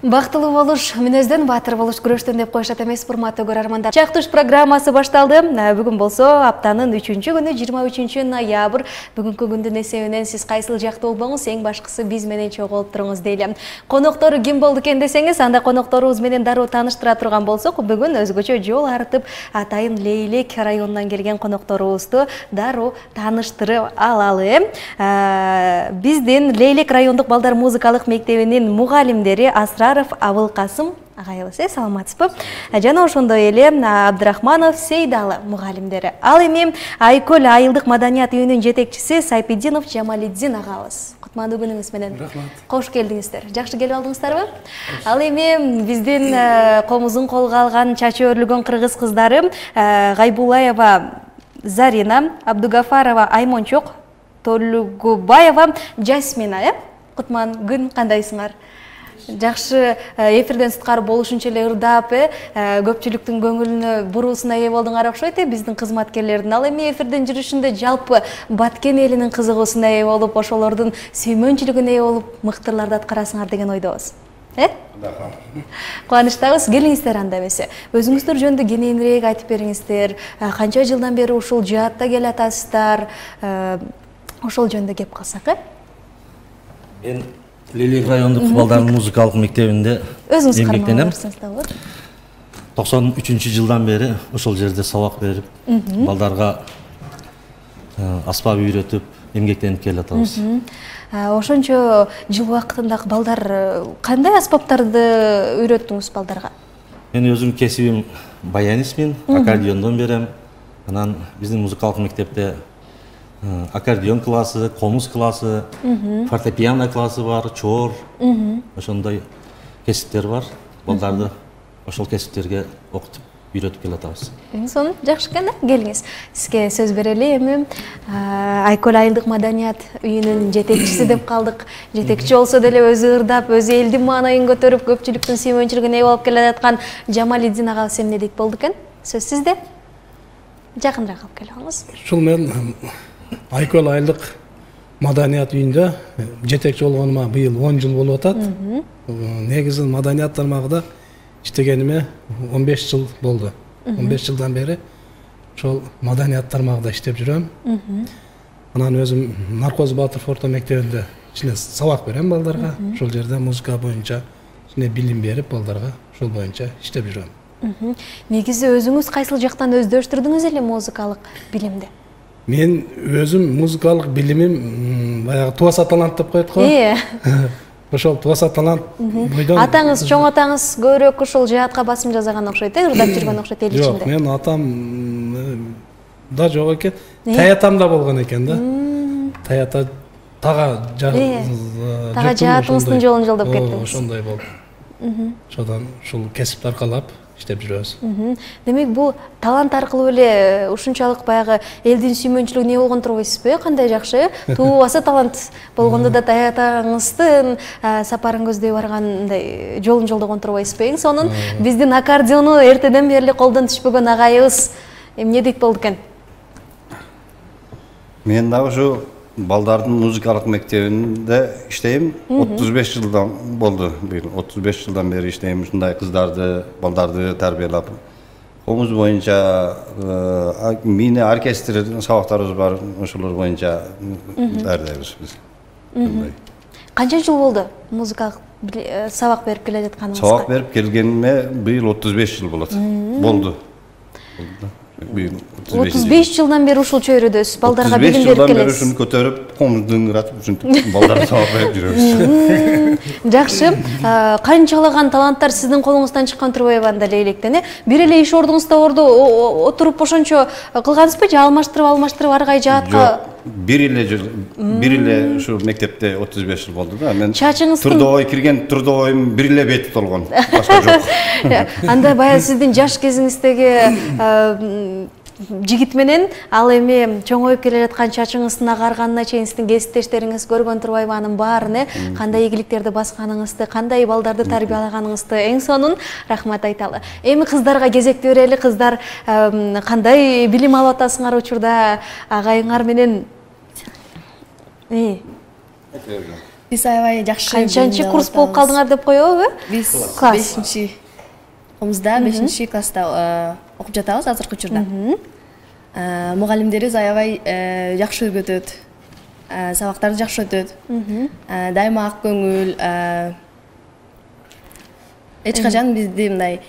Бактылуу болуш мүнөздөн, баатыр болуш күрөштөн деп коюшат эмес, урматтуу көрөрмандар. Чактуш программасы башталды. Бүгүн болсо аптанын 3-күнү 23 ноябрь. Бүгүнкү күндүн эсебинен сиз кайсыл жакта болбоңуз, эң башкысы биз менен чогулуп туруңуз дейли. Коноктору ким болду экен десеңиз, анда конокторубуз менен дароо тааныштыра турган болсок, бүгүн өзгөчө жол артып Атайын Лейлек районунан келген конокторубузду дароо тааныштырып алалы. Биздин Лейлек райондук балдар музыкалык мектебинин мугалимдери Асраров Абылкасым агайыбыз, саламатсызбы? Жана ошондой эле Абдрахманов Сейдалы мугалимдери. Ал эми Айкөл айылдык маданият үйүнүн жетекчиси Сайпидинов Жамалиддин агабыз. Кутмандуу күнүңүз менен. Кош келдиңиздер. Жакшы келип алдыңыздарбы? Ал эми биздин комузун колго алган чачы өрлөгөн кыргыз кыздары Гайбулаева Зарина, Абдугафарова Аймончок, Толугубаева Жасмина, Кутман күн кандайсыңар? Жакшы эфирден сыткары болушунча эле ырдап, көпчүлүктүн көңүлүнө буруусуна ээ болдуңар окшойт, биздин кызматкерлердин. Ал эми эфирден жүрүшүндө жалпы Баткен элинин кызыгуусуна ээ болуп, ошолордун сүймөнчүлүгүнө ээ болуп, мыктырларды аткарасыңар деген ойдобуз. Кубанычтабыз, келиңиздер анда эмесе. Өзүңүздөр жөнүндө кененирээк айтып бериңиздер. Канча жылдан бери ушул жаатта келатасыздар? Ошол жөнүндө кеп калсак, Мен Лейлек райондук балдардын музыкалык мектебинде эмгектенем. 93-жылдан бери ошол жерде сабак берип, балдарга аспап үйрөтүп, эмгектенип келатабыз. Ошончо жыл убакытында балдар кандай аспаптарды үйрөттүңүз балдарга? Мен өзүм кесибим баянистмин, аккордеондон берем. Анан биздин музыкалык мектепте аккордеон классы, комуз классы, фортепиано классы бар, чор, ошондой кесиптер бар. Балдарды ошол кесиптерге окутуп, үйрөтүп келатабыз. Сонун, жакшы экен, келиңиз. Сизге сөз берели. Эми Айкөл айылдык маданият үйүнүн жетекчиси деп калдык. Жетекчи болсо деле өзү ырдап, өзү элдин маанайын көтөрүп, көпчүлүктүн сүймөнчүлүгүнө ээ болуп келе жаткан Жамалиддин агабыз эмне дейт болду экен? Сөз сизде. Жакыныраак алып келиңиз. Ушул мен Айкөл айылдык маданият үйүндө жетекчи болгонума быйыл 10 жыл болуп атат. Негизи маданият тармагында иштегениме 15 жыл болду. 15 жылдан бери ошол маданият тармагында иштеп жүрөм. Анан өзүм Наркоз Батыр Форто мектебинде ичине сабак берем балдарга. Ошол жерде музыка боюнча ичине билим берип балдарга ошол боюнча иштеп жүрөм. Негизи өзүңүз кайсыл жактан өздөштүрдүңүз эле музыкалык билимди? Мен өзүм музыкалык билимим баягы туаса талант деп коет го. Ошол туаса талант бойдон. Атаңыз, чоң атаңыз көбүрөөк ушул жаатка басым жасаган окшойт, ырдап жүргөн окшойт эл ичинде. Жок, мен атам да жок экен. Таятам да болгон экен да. Таята тага жаатыңыздын жолун жолдоп кеттиңиз. Ошондой болду. Ошондон ушул кесипти аркалап иштеп жүрөбүз. Демек, бул талант аркылуу эле ушунчалык баягы элдин сүймөнчүлүгүнө ээ болгон турбайсызбы? Кандай жакшы, туубаса талант болгондо да таятаңыздын сапарын көздөй баргандай жолун жолдогон турбайсызбы? Эң сонун биздин аккордеону эртеден бери колдон түшпөгөн агайыбыз эмне дейт болду экен? Мен да ушу балдардын музыкалык мектебинде иштейм. 35 жылдан болду. 35 жылдан бери иштейм. Ушундай кыздарды, балдарды тарбиялап. Комуз боюнча мини оркестр сабактарыбыз бар. Ошолор боюнча даярдайбыз биз. Канча жыл болду музыкалык сабак берип келе жатканыңызга? Сабак берип келгениме быйыл 35 жыл болот. Болду. 35 жылдан бери ушулчу үйрөдүсүз, балдарга билим берип келесиз. 35 жылдан бери ушуну көтөрүп, комузду ыңыратып, ушинтип балдарга сабак берип жүрөбүз. Жакшы. Канчалаган таланттар сиздин колуңуздан чыккан турбайбы анда Лейлектен? Бир эле иш ордуңузда отуруп ошончо кылгансызбы же алмаштырып аргай жаатка? Бир эле ушу мектепте 35 жыл болду да. Мен трудовой кирген, трудовойм бир эле бет толгон. Башка жок. Анда баягы сиздин жаш кезиңиздеги жигит менен ал эми чоңоюп келе жаткан чачыңыздын агарганына чейин сиздин кесиптештериңиз көргөн турбайбы анын баарын, кандай ийгиликтерди басканыңызды, кандай балдарды тарбиялаганыңызды? Эң сонун рахмат айталы. Эми кыздарга кезекти берели. Кыздар кандай билим алып атасыңар учурда агайыңар менен? Биз аябай жакшы. Канчанчы курс болуп калдыңар деп коебузбу? Биз класс 5-чи комузда 5-чи класста окуп жатабыз азыркы учурда. Мугалимдерибиз аябай жакшы өргөтөт. Сабактарды жакшы өтөт. Дайыма ак көңүл. Эч качан бизди мындай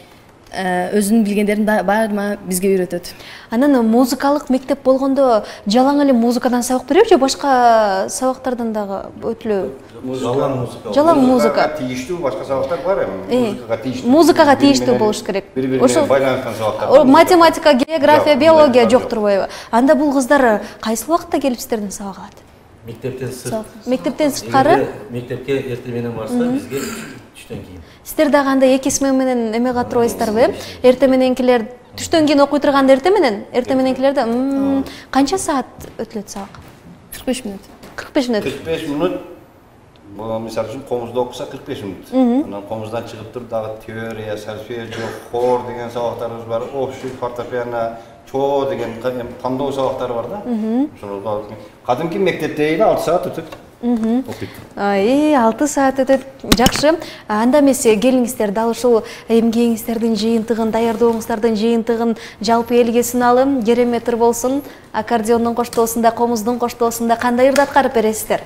өзүнүн билгендерин баарына бизге үйрөтөт. Анан музыкалык мектеп болгондо жалаң эле музыкадан сабак береби же башка сабактардан дагы өтүлөбү? Жалаң музыка. Тийиштүү башка сабактар бар эми. Музыкага тийиштүү. Музыкага тийиштүү болуш керек. Ошол байланышкан сабактар. Математика, география, биология жок турбайбы? Анда бул кыздар кайсы убакытта келип сиздерден сабак алат? Мектептен сырткары? Мектепке эртең менен барса, бизге түштөн кийин. Сиздер дагы анда 2 смена менен эмеге турбайсыздарбы? Эртең мененкилер түштөн кийин окуй турганда эртең мененкилерде канча саат өтүлөт сабак? 45 мүнөт. 45 мүнөт. 45 мүнөт. Бул мисалы үчүн комузда окуса 45 мүнөт. Анан комуздан чыгып туруп дагы теория, сольфеджио, хор деген сабактарыбыз бар. Общий фортепиано, чоо деген тандоо сабактары бар да. Ошол кадимки мектепте эле 6 саат өтөт. Окуйт. 6 саат өтөт. Жакшы. Анда эмес келиңиздер дал ушул эмгегиңиздердин жыйынтыгын, даярдооңуздардын жыйынтыгын жалпы элге суналым, кереметтер болсун. Аккордеондун коштоосунда, комуздун коштоосунда кандай ырды аткарып бересиздер?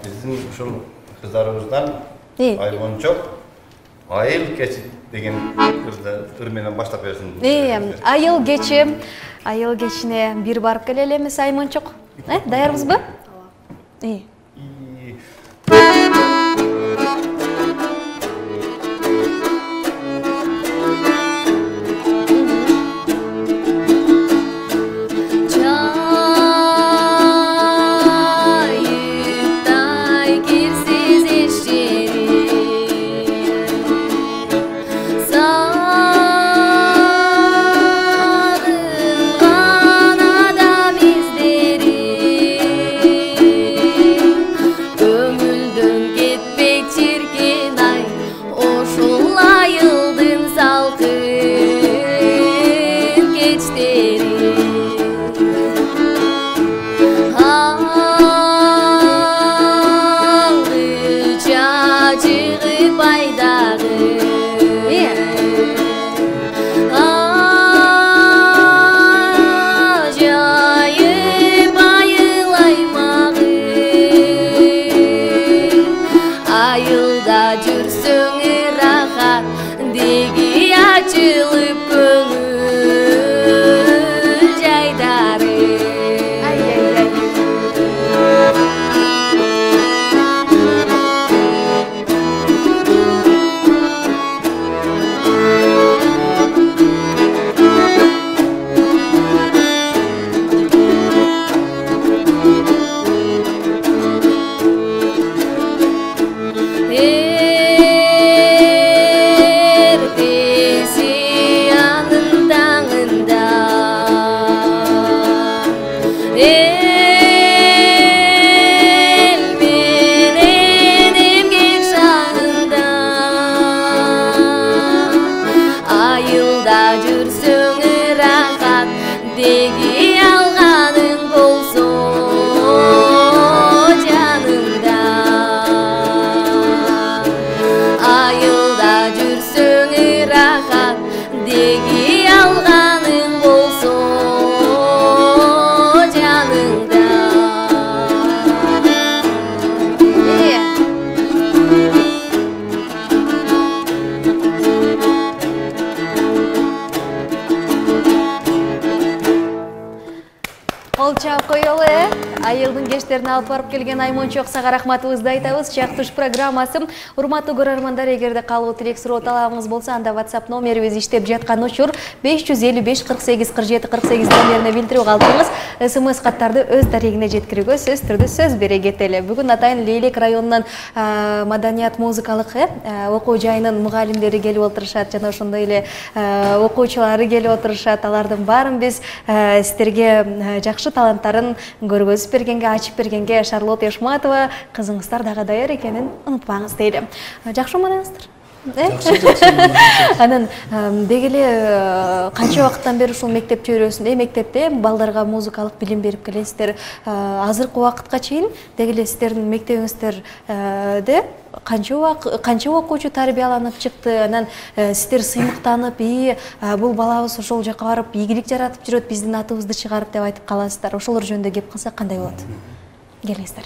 Биздин ушул кыздарыбыздан Айгончок айыл кечи деген ыр менен баштап берсин. Айыл кечине бир барып келели эмес Аймончок. Даярбызбы? Айылдын кечтерине алып барып келген Аймончок сага рахматыбызды айтабыз. Чактыш программасы. Урматтуу көрөрмандар, эгерде калуу тилек суроо талабыңыз болсо, анда WhatsApp номерибиз иштеп жаткан учур 555 48 47 48 номерине билдирип калдыңыз. СМС каттарды өз дарегине жеткирүүгө сөз түрдүү сөз бере кетели. Бүгүн атайын Лейлек районунан маданият музыкалык окуу жайынын мугалимдери келип отурушат жана ошондой эле окуучулары келип отурушат. Алардын баарын биз сиздерге жакшы таланттарын көргөзүп бергенге, ачып бергенге Шарлот Яшматова кызыңыздар дагы даяр экенин унутпаңыз дейли. Жакшы маңыңыздар. Анан деги эле канча убакыттан бери ушул мектепте жүрөсүң? Мектепте балдарга музыкалык билим берип келесиздер. Азыркы убакытка чейин деги эле сиздердин мектебиңиздерде канча окуучу тарбияланып чыкты? Анан сиздер сыймыктанып, бул балабыз ошол жака барып ийгилик жаратып жүрөт, биздин атыбызды чыгарып деп айтып каласыздар. Ошолор жөнүндө кеп калсак кандай болот? Келиңиздер.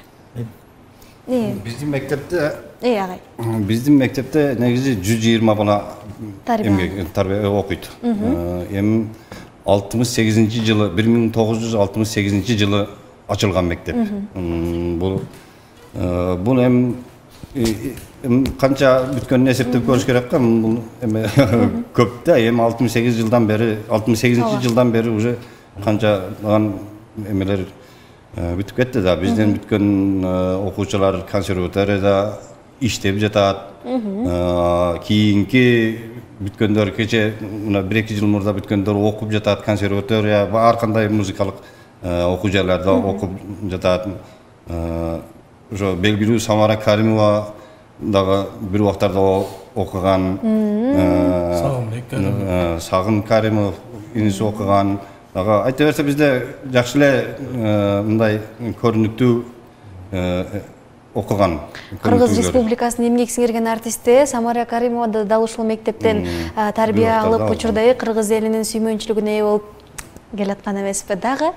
Биздин мектепте агай. Биздин мектепте негизи 120 бала тарбия окуйт. Эми 68 жылы 1968 жылы ачылган мектеп. Бул эми канча бүткөнүн эсептеп көрүш керек да. Бул эми көп да. Эми 68 жылдан бери уже канчадан эмелер бүтүп кетти да. Бизден бүткөн окуучулар консерваторияда иштеп жатат. Кийинки бүткөндөр кече мына 1-2 жыл мурда бүткөндөр окуп жатат консерватория, ар кандай музыкалык окуу жайларда окуп жатат. Ошо белгилүү Самара Каримова дагы бир убактарда окуган. Сагын Каримов иниси окуган. Дагы айта берсе бизде жакшы эле мындай көрүнүктүү окуган. Кыргыз Республикасынын эмгек сиңирген артисти Самара Каримова дал ушул мектептен тарбия алып, учурда кыргыз элинин сүймөнчүлүгүнө ээ болуп келаткан эмеспи? Дагы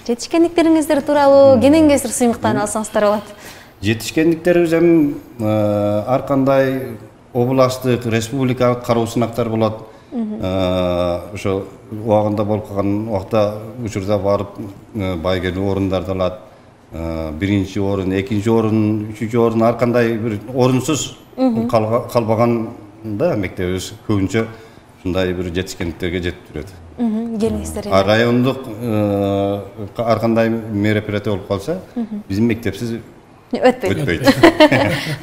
жетишкендиктериңиздер тууралуу кенен-кесир сыймыктанып алсаңыздар болот. Жетишкендиктерибиз эми ар кандай областтык, республикалык кароо сынактар болот. Ошо убагында болуп калган убакта учурда барып байгелүү орундарда алат. 1-чи орун, 2-чи орун, 3-чү орун ар кандай бир орунсуз калбаганда мектебибиз көбүнчө ушундай бир жетишкендиктерге жетип жүрөт. Келиңиздер. Райондук ар кандай мероприятие болуп калса, биздин мектепсиз өтпөйт.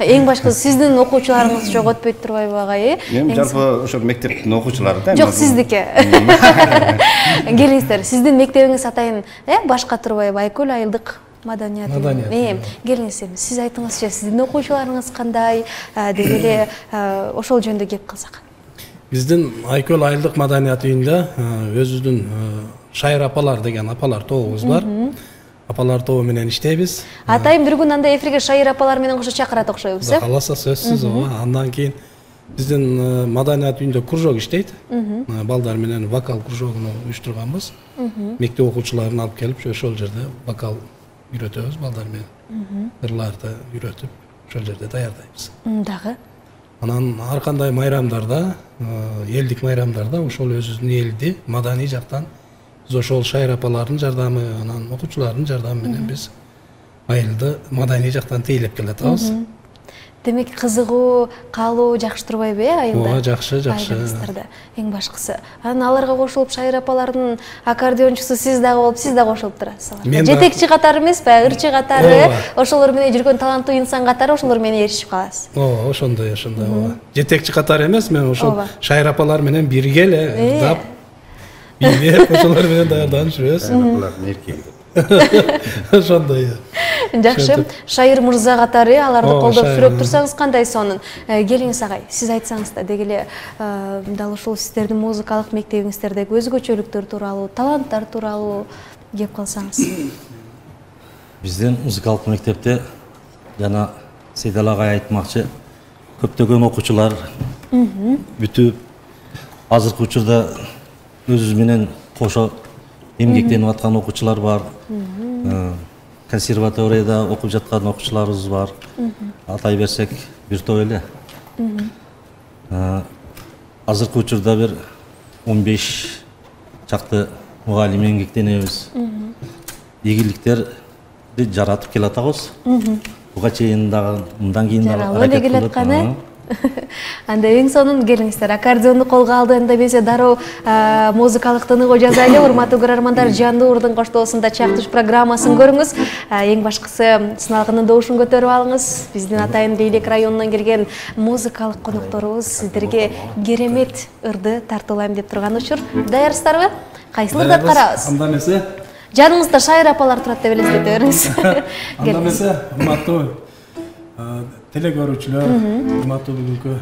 Эң башкысы сиздин окуучуларыңыз жок өтпөйт турбайбы агай? Эми жалпы ошо мектептин окуучулары да. Жок, сиздики. Келиңиздер, сиздин мектебиңиз атайын башка турбайбы? Айкөл айылдык маданият. Келиңиз, сиз айтыңызчы, сиздин окуучуларыңыз кандай? Деги эле ошол жөнүндө кеп калсак. Биздин Айкөл айылдык маданият үйүндө өзүбүздүн Шайыр апалар деген апалар тобубуз бар. Апалар тобу менен иштейбиз. Атайын бир күн анда эфирге Шайыр апалар менен кошо чакырат окшойбуз, э? Кааласа сөзсүз. Андан кийин биздин маданият үйүндө кружок иштейт. Балдар менен вокал кружогун уюштурганбыз. Мектеп окуучуларын алып келип, ошол жерде вокал үйрөтөбүз балдар менен. Ырларды үйрөтүп, ошол жерде даярдайбыз. Дагы анан ар кандай майрамдарда, элдик майрамдарда ошол өзүбүздүн элди маданий жактан биз ошол Шайыр апалардын жардамы, анан окуучулардын жардамы менен биз айылды маданий жактан тейлеп келатабыз. Демек кызыгуу, каалоо жакшы турбайбы, айылда? Ооба, жакшы. Эң башкысы. Анан аларга кошулуп Шайыр апалардын аккордеончусу сиз дагы болуп, сиз дагы кошулуп турасыз. Жетекчи катары эмеспи, ырчы катары, ошолор менен жүргөн таланттуу инсан катары ошолор менен эришип каласыз. Ооба, ошондой. Жетекчи катары эмес, мен ошол Шайыр апалар менен бирге эле ырдап, бийлеп, ошолор менен даярданып жүрөбүз. Ошондой. Жакшы. Шайыр мырза катары аларды колдоп сүрөп турсаңыз кандай сонун? Келиңиз агай, сиз айтсаңыз да, деги эле дал ушул сиздердин музыкалык мектебиңиздердеги өзгөчөлүктөр тууралуу, таланттар тууралуу кеп калсаңыз. Биздин музыкалык мектепте жана Сейдал агай айтмакчы, көптөгөн окуучулар бүтүп, азыркы учурда өзүбүз менен кошо эмгектенип аткан окуучулар бар. Консерваторияда окуп жаткан окуучуларыбыз бар. Атай берсек бир топ эле. Азыркы учурда бир 15 чакты мугалим эмгектенебиз. Ийгиликтерди жаратып келатабыз. Буга чейин дагы мындан кийин дагы аракет кылып. Анда эң сонун келиңиздер, аккордеонду колго алдыгында бизе дароо музыкалык тыныгуу жазайлы. Урматтуу көрөрмандар, Жанды Уурдун коштоосунда Чактыш программасын көрүңүз. Эң башкысы сыналгынын добушун көтөрүп алыңыз. Биздин атайын Бийлик районунан келген музыкалык конокторубуз сиздерге керемет ырды тартуулайм деп турган учур. Даярсыздарбы? Кайсыл ырды аткарабыз? Анда эмесе жаныңызда Шайыр апалар турат деп элестете бериңиз. Анда эмесе урматтуу теле көрүүчүлөр, урматтуу бүгүнкү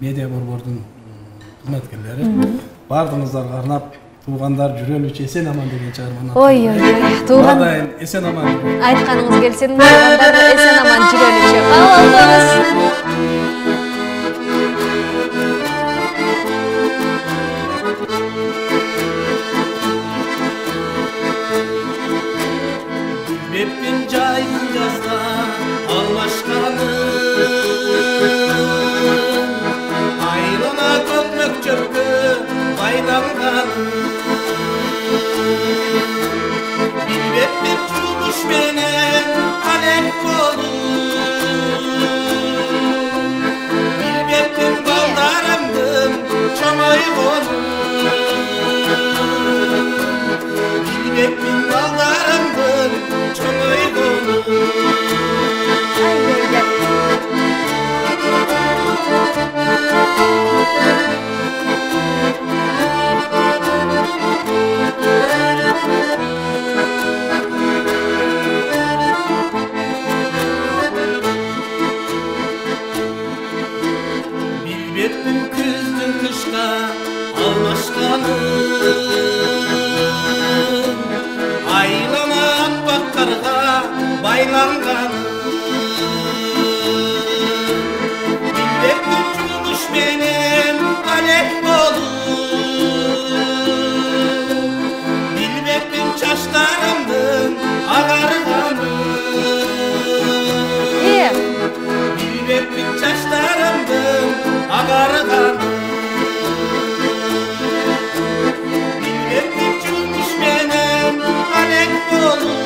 медиа борбордун кызматкерлери баардыгыңыздарга арнап туугандар жүрөлүчү эсен аман деген чыгарманы тууган атайын эсен аман айтканыңыз келсин, туугандар эсен аман жүрөлүчү. Кабыл алыңыз. Bilmeptin cayın yazda almaşkanın Ayrına kökmök çöpkü baylanganın Bilmeptin çulmuş benim alek kolum Bilmeptin baldarımdın çamay kolum Bilmeptin baldarımdın çamay kolum Bilmeptin küzdün kışka almaşkanın Aylana akbak karga baylanganın Bilmeptin çulmuş benim alek bolum Bilmeptin çaşlarımdın ağarganın Bilmeptin çaşlarımdın ağarganın Bilmeptin çulmuş benim alek bolum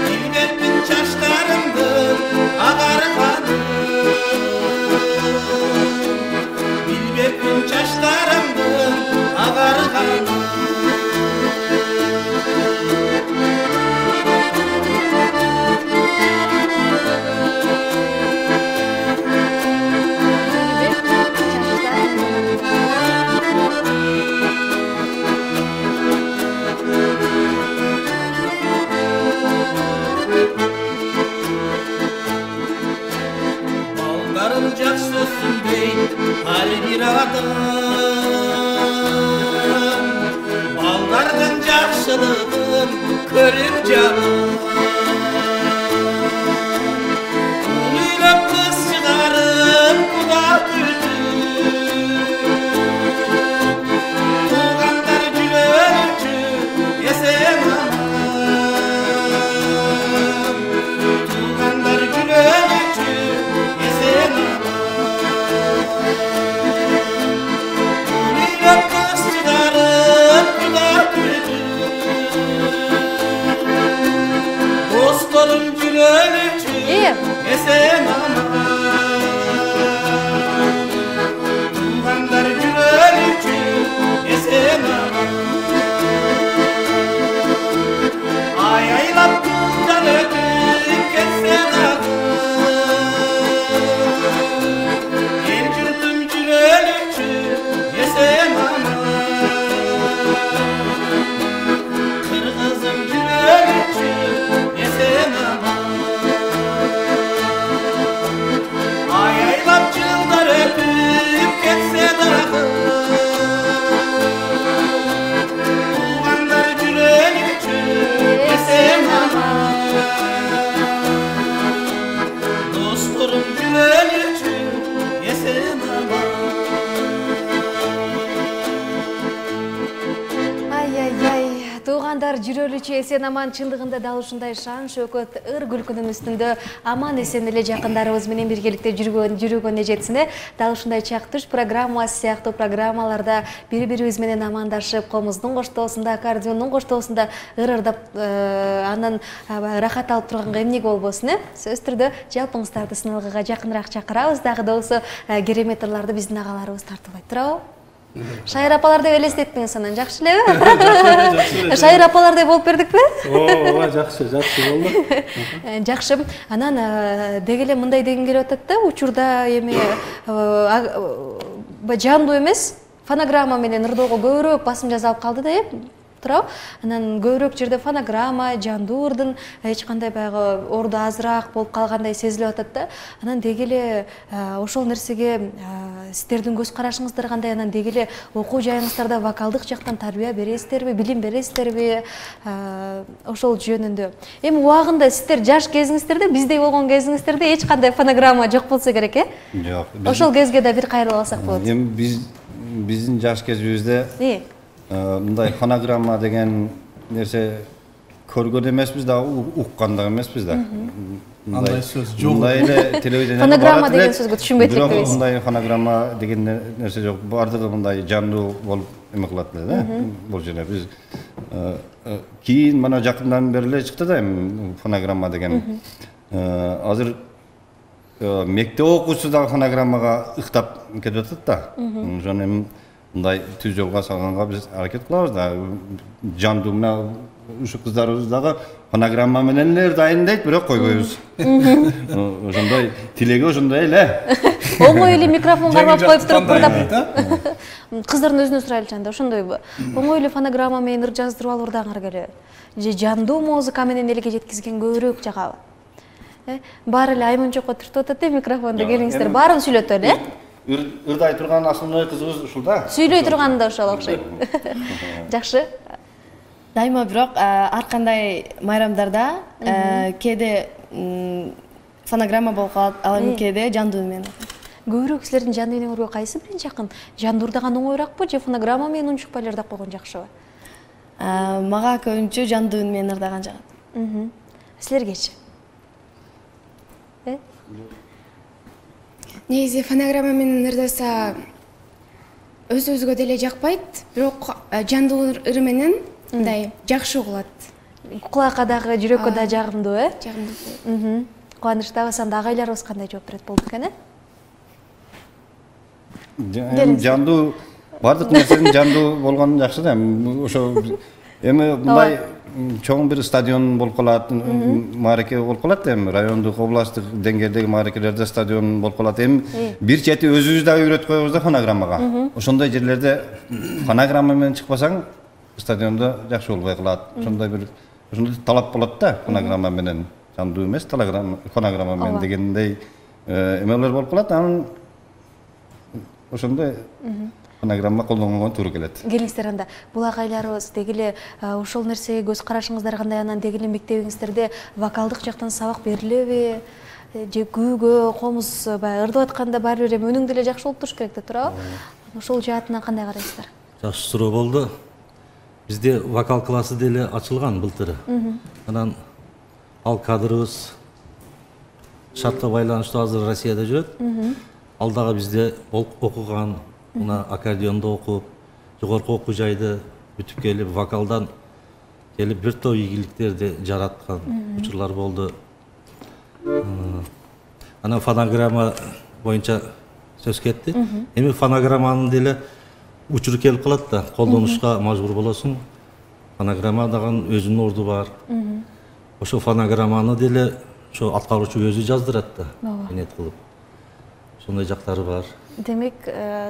Bilmeptin çaşlarımdın ağarganın Bilmeptin çaşlarımdın ağarganın Baldarım jaksısın dey har bir adam Baldardan jakşılığın körüp canım Uylap kız çıkarıp kuda tütü Tuğanlar gülölçü esen aman Tuğanlar gülölçü esen aman Uylap kız çıkarıp kuda tütü Dostlarım gülölçü esen aman Tuğanlar gülölçü esen aman Ay aylap kızlar ötüp ketsen ağır El yurdum gülölçü esen aman Kırgızım gülölçü esen aman Ay aylap yıllar ötüp ketsen ağır Tuğanlar gülölçü esen aman Dostlarım gülölçü esen aman Туугандар жүрөлүчү эсен аман чындыгында дал ушундай шан шөкөт ыр күлкүнүн үстүндө аман эсен эле жакындарыбыз менен биргеликте жүргөнүнө жетсин. Дал ушундай чак туш программасы сыяктуу программаларда бири бирибиз менен амандашып, комуздун коштоосунда, аккордеондун коштоосунда ыр-ырдап анан рахат алып турганга эмнеге болбосун, сөзсүз түрдө жалпыңыздарды сыналгыга жакыныраак чакырабыз. Дагы да болсо керемет ырларды биздин агаларыбыз тартуулай турабы? Шайыр апалар деп элестеттиңиз анан, жакшы элеби? Шайыр апалардай болуп бердикпи? Ооба, жакшы болду. Жакшы. Анан деги эле мындай деген келип атат да, учурда эми жандуу эмес, фонограмма менен ырдоого көбүрөөк басым жасалып калды да, туурабы? Анан көбүрөөк жерде фонограмма, жандуу ырдын эч кандай баягы орду азыраак болуп калгандай сезилип атат да. Анан деги эле ошол нерсеге сиздердин көз карашыңыздар кандай? Анан деги эле окуу жайыңыздарда вокалдык жактан тарбия бересиздерби, билим бересиздерби? Ошол жөнүндө. Эми убагында сиздер жаш кезиңиздерде, биздей болгон кезиңиздерде эч кандай фонограмма жок болсо керек, Жок. Ошол кезге да бир кайрылып алсак болот. Эми биздин жаш кезибизде мындай фонограмма деген нерсе көргөн эмеспиз да, уккан да эмеспиз да. Андай сөз жок. Мындай эле телевидениеде фонограмма деген сөзгө түшүнбөйт элек бирок мындай фонограмма деген нерсе жок. Бардыгы мындай жандуу болуп эме кылат эле да. Бул жерде биз кийин мына жакындан бери эле чыкты да эми фонограмма деген. Азыр мектеп окуучусу да фонограммага ыктап кетип атат да. Ошону эми мындай түз жолго салганга биз аракет кылабыз да. Жандуу мына ушу кыздарыбыз дагы фонограмма менен эле ырдайын дейт, бирок койбойбуз. Ошондой тилеги ошондой эле. Оңой эле микрофон кармап коюп туруп ырдап. Кыздардын өзүнө сурайлычы анда, ошондойбу? Оңой эле фонограмма менен ыр жаздырып алып ырдагыңар келеби? Же жандуу музыка менен элге жеткизген көбүрөөк жагабы? Баары эле Айманчокко түртүп атат микрофонду, келиңиздер, баарын сүйлөтө эле. Ырдай турган основной кызыбыз ушул да. Сүйлөй турганы да ошол окшойт. Жакшы. Дайыма бирок ар кандай майрамдарда кээде фонограмма болуп калат, ал эми кээде жандуу менен. Көбүрөөк силердин жандуу менен өргө кайсы бирин жакын? Жандуу ырдаган оңоюраакпы же фонограмма менен унчукпай эле ырдап койгон жакшыбы? Мага көбүнчө жандуу менен ырдаган жагат. Силергечи? Негизи фонограмма менен ырдаса өзүбүзгө деле жакпайт, бирок жандуу ыр менен мындай жакшы угулат. Кулакка дагы, жүрөккө да жагымдуу, Жагымдуу. Кубанычтабыз. Анда агайларыбыз кандай жооп берет болду экен, Жандуу бардык нерсенин жандуу болгону жакшы да. Ошо эми мындай чоң бир стадион болуп калат, маареке болуп калат эми райондук, областтык деңгээлдеги маарекелерде стадион болуп калат. Эми бир чети өзүбүз дагы үйрөтүп коебуз да фонограммага. Ошондой жерлерде фонограмма менен чыкпасаң, стадиондо жакшы болбой калат. Ошондой талап болот да, фонограмма менен жандуу эмес, фонограмма менен дегендей эмелер болуп калат. Анан ошондой фонограмма колдонгонго туура келет. Келиңиздер анда. Бул агайларыбыз деги эле ошол нерсеге көз карашыңыздар кандай? Анан деги эле мектебиңиздерде вокалдык жактан сабак берилеби? Же күүгө, комуз баягы ырдап атканда баары бир өнүң деле жакшы болуп туруш керек да, туурабы? Ошол жаатынан кандай карайсыздар? Жакшы суроо болду. Бизде вокал классы деле ачылган былтыр. Анан ал кадрыбыз шартка байланыштуу азыр Россияда жүрөт. Ал дагы бизде окуган, мына аккордеондо окуп, жогорку окуу жайды бүтүп келип, вокалдан келип бир топ ийгиликтерди жараткан учурлар болду. Анан фонограмма боюнча сөз кетти. Эми фонограмманын деле учуру келип калат да, колдонушка мажбур болосуң. Фонограмма дагы өзүнүн орду бар. Ошо фонограмманы деле ошо аткаруучу өзү жаздырат да, энет кылып. Ошондой жактары бар. Демек,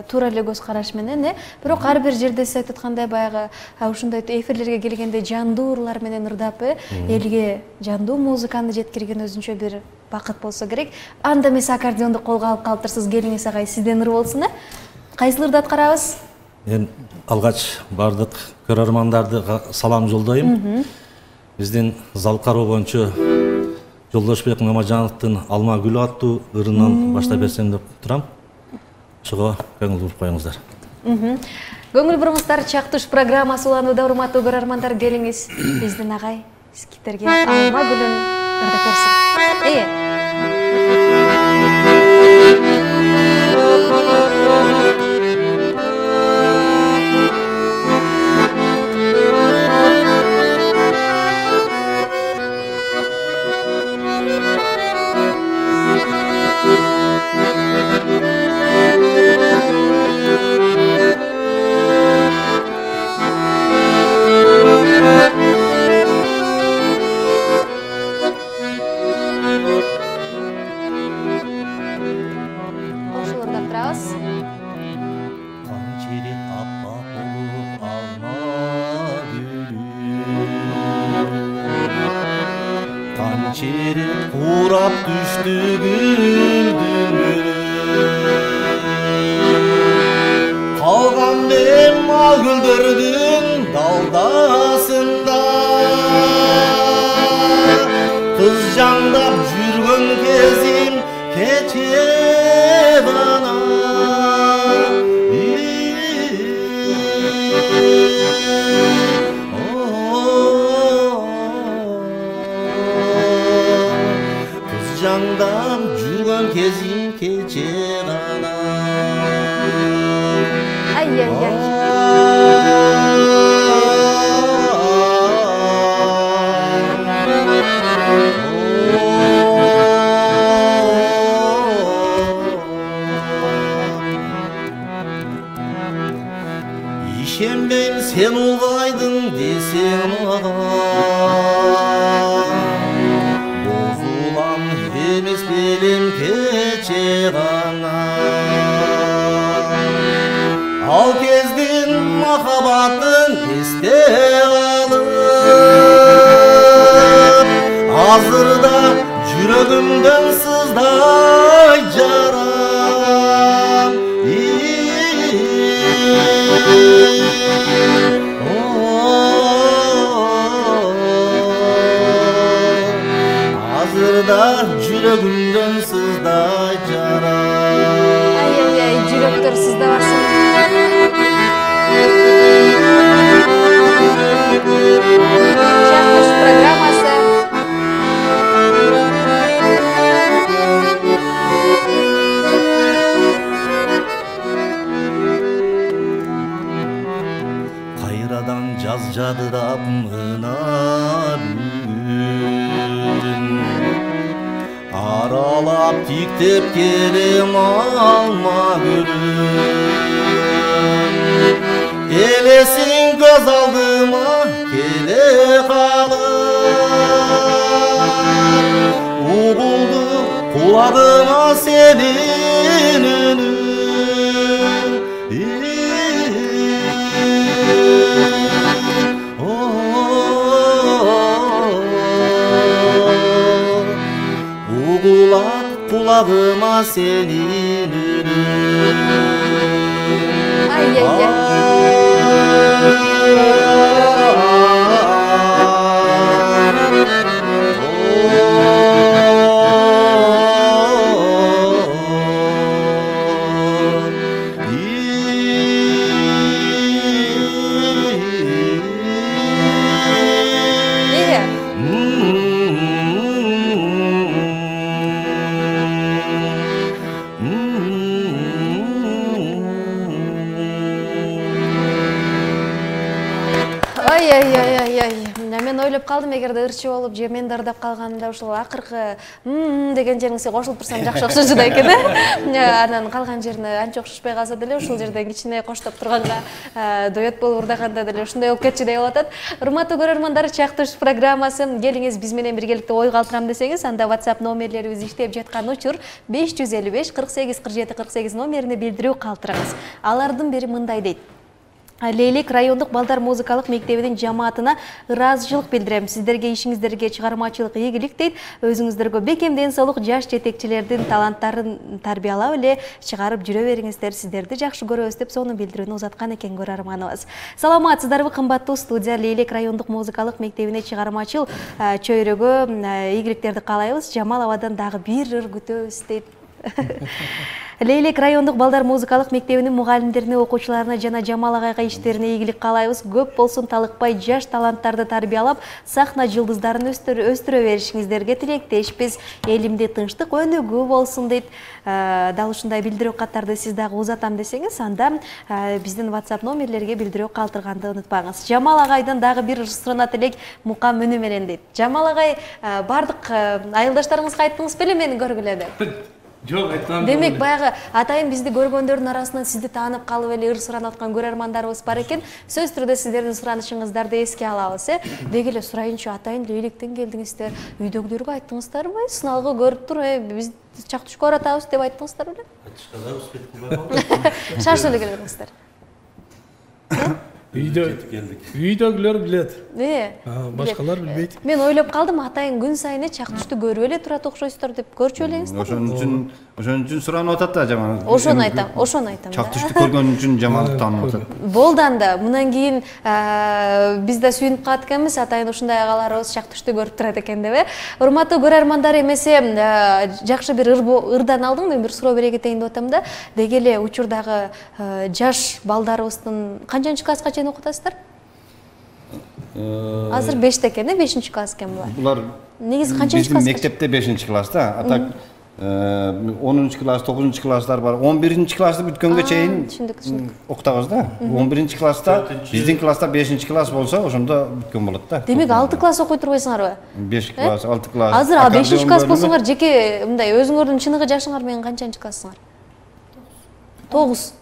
туура эле көз караш менен, бирок ар бир жерде сиз айтып аткандай баягы ушундай эфирлерге келгенде жандуу ырлар менен ырдап, элге жандуу музыканы жеткирген өзүнчө бир бакыт болсо керек. Анда эмес аккордеонду колго алып калыптырсыз, келиңиз агай, сизден ыр болсун, Кайсыл ырды аткарабыз? Мен алгач бардык көрөрмандарды салам жолдойм. Биздин Залкароо боюнча Жолдошбек Мамажановдун Алма гүлү аттуу ырынан баштап берсем деп турам. Ошого көңүл буруп коюңуздар. Көңүл буруңуздар, Чактуш программасы уланууда, урматтуу көрөрмандар, келиңиз биздин агай сиздерге Алма гүлүн ырдап берсин. урап түштү гүлдүн калган мен ал гүлдөрдүн далдасында кыз жандап жүргөн кезим кече гана кыз жандап жүргөн кезим кече гана Ай-яй-яй. Ишенбейм сен улгайдың десең мага бозулам эмес белем кече гана ал кездин махаббатын эсте алып азырда жүрөгүмдөн сыздай жарам азырда жүрөгүмдөн сыздай жарам Ай-яй-яй, жүрөктөр сыздабасын. Чактыш программасы. кайрадан жаз жадырап мына бүгүн аралап тиктеп келем алма гүлүн элесиң көз алдыма келе калып угулду кулагыма сенин үнүң угулат кулагыма сенин үнүң Мен ойлоп калдым, эгерде ырчы болуп же мен дардап калганымда ушул акыркы деген жериңизге кошулуп турсам жакшы окшошот экен анан калган жерине анча окшошпой калса деле ушул жерден кичине коштоп турганга дуэт болуп ырдаганда деле ушундай болуп кетчү деп атат. Урматтуу көрөрмандар, чактыш программасы. Келиңиз биз менен биргеликте ой калтырам десеңиз, анда WhatsApp номерлерибиз иштеп жаткан учур 555 48 47 48 номерине билдирүү калтырыңыз. Алардын бири мындай дейт: Лейлек райондук балдар музыкалык мектебинин жамаатына ыраазычылык билдирем. Сиздерге ишиңиздерге чыгармачылык ийгилик дейт. Өзүңүздөргө бекем ден соолук, жаш жетекчилердин таланттарын тарбиялап эле чыгарып жүрө бериңиздер. Сиздерди жакшы көрөбүз деп сону билдирүүнү узаткан экен көрөрманыбыз. Саламатсыздарбы кымбаттуу студия? Лейлек райондук музыкалык мектебине чыгармачыл чөйрөгө ийгиликтерди каалайбыз. Жамал абадан дагы бир ыр күтөбүз дейт. Лейлек райондук балдар музыкалык мектебинин мугалимдерине, окуучуларына жана Жамал агайга иштерине ийгилик каалайбыз. Көп болсун, талыкпай жаш таланттарды тарбиялап, сахна жылдыздарын өстүрө беришиңиздерге тилектешпиз. Элимде тынчтык, өнүгүү болсун дейт. Дал ушундай билдирүү каттарды сиз дагы узатам десеңиз, анда биздин WhatsApp номерлерге билдирүү калтырганды унутпаңыз. Жамал агайдан дагы бир суранат элек мукам үнү менен дейт. Жамал агай, бардык айылдаштарыңызга айттыңыз беле мени көргүлө деп? Жок, айтмам. Демек, баягы атайын бизди көргөндөрдүн арасынан сизди таанып калып эле ыр суранып аткан көрөрмандарыбыз бар экен. Сөз түрдө сиздердин суранышыңыздарды эске алабыз, Деги эле сурайынчы, атайын Лейлектен келдиңиздер, үйдөгүлөргө айттыңыздарбы? Сыналгы көрүп тур, биз чактышка баратабыз деп айттыңыздар беле? Айтышканда успет кылбай калдым. Шаш эле келиңиздер. Үйдөгүлөр билет. Башкалар билбейт. Мен ойлоп калдым, атайын күн сайын Чактүштү көрүп эле турат окшойсуздар деп. Көрчү элеңиз. Ошон үчүн суранып атат да жаман. Ошону айтам. Чактүштү көргөн үчүн жамандыктан атат. Болду анда. Мындан кийин биз да сүйүнүп калат экенбиз, атайын ушундай агаларыбыз Чактүштү көрүп турат экен деп. Урматтуу көрөрмандар, эмесе жакшы бир ырдан алдым, мен бир суроо бере кетейин деп атам да. Деги эле учурдагы жаш балдарыбыздын канчанчы класска чейин окутасыздар? Азыр 5те экен, 5-чи класс экен булар. Булар негизи канчанчы класс? Биздин мектепте 5-чи класста, а так 10-чы класс, 9-чу класстар бар. 11-чи классты бүткөнгө чейин окутабыз да. 11-чи класста, биздин класста 5-чи класс болсо, ошондо бүткөн болот да. Демек 6 класс окуй турбайсыңарбы? 5 класс, 6 класс. Азыр 5-чи класс болсоңар, жеке мындай өзүңөрдүн чыныгы жашыңар менен канчанчы классыңар? 9.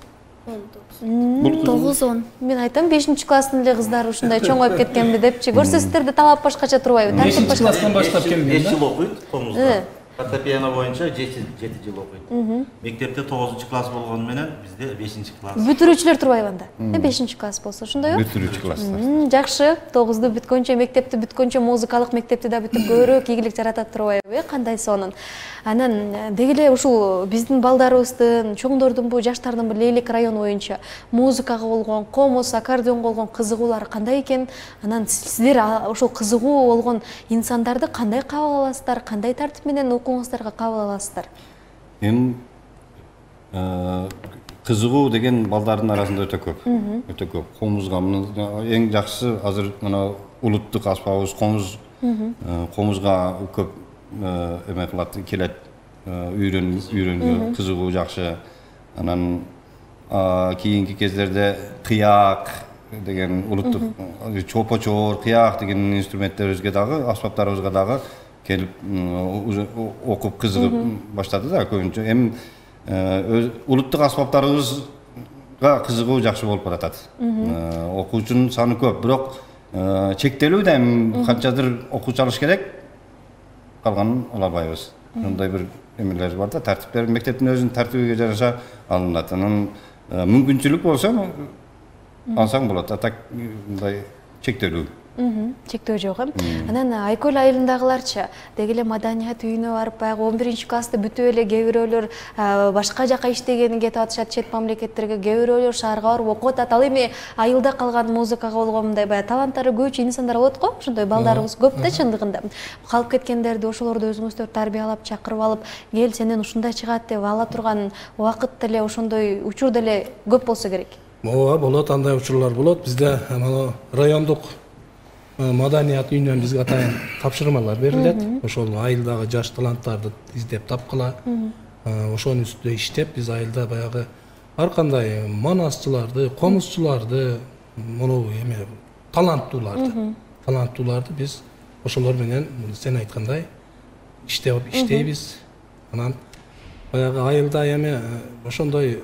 9-10. Мен айтам 5-чи класстын эле кыздары ушундай чоңоюп кеткенби депчи. Көрсөзсүздөрдө талап башкача турбайбы? 5-чи класстан баштап келген да. 5 жыл окуйт Комузда. Фортепиано боюнча 7 жыл окуйт. Мектепте 9-чу класс болгону менен бизде 5-чи класс. Бүтүрүүчүлөр турбайбы анда? 5-чи класс болсо ошондойбу? Бүтүрүүчү класстар. Жакшы. 9-ду бүткөнчө, мектепти бүткөнчө музыкалык мектепти да бүтүп көбүрөөк ийгилик жаратат турбайбы? Кандай сонун. Анан деги эле ушул биздин балдарыбыздын, чоңдордун, бу жаштардын бир Лейлек району боюнча музыкага болгон, комуз, аккордеонго болгон кызыгуулары кандай экен? Анан сиздер ошол кызыгуу болгон инсандарды кандай кабыл аласыздар? Кандай тартип менен окууңуздарга кабыл аласыздар? Эми кызыгуу деген балдардын арасында өтө көп. Өтө көп. Комузга эң жакшысы азыр мына улуттук аспабыбыз комуз. Комузга көп эме кылат, келет, үйрөнгө, кызыгуу жакшы. Анан кийинки кездерде кыяк деген улуттук чопочор, кыяк деген инструменттерибизге дагы, аспаптарыбызга дагы келип окуп кызыгып баштады да көбүнчө. Эми улуттук аспаптарыбызга кызыгуу жакшы болуп баратат. Окуучунун саны көп, бирок чектелүү да, эми канчадыр окуучу алыш керек, калганын ала албайбыз. Мындай бир эмелер бар да, тартиптер мектептин өзүнүн тартибиге жараша алынат. Анан мүмкүнчүлүк болсо алсаң болот, а так мындай чектелүү. Чектөө жок эм. Анан Айкөл айылындагыларчы деги эле маданият үйүнө барып, баягы 11-чи классты бүтүп эле кээ бирөөлөр башка жака иштегени кетип атышат, чет мамлекеттерге, кээ бирөөлөр шаарга барып окуп атат. Ал эми айылда калган музыкага болгон мындай баягы таланттары көбүчө инсандар болот го, ошондой балдарыбыз көп да чындыгында. Калып кеткендерди ошолорду өзүңүздөр тарбиялап, чакырып алып, кел сенен ушундай чыгат деп ала турган убакыт деле, ошондой учур деле көп болсо керек. Ооба, болот, андай учурлар болот. Бизде мына райондук маданият үйүнөн бизге атайын тапшырмалар берилет. Ошол айылдагы жаш таланттарды издеп тапкыла, ошонун үстүндө иштеп, биз айылда баягы ар кандай манасчыларды, комузчуларды, мону эме таланттууларды биз ошолор менен сен айткандай иштейбиз. Анан баягы айылда эме ошондой,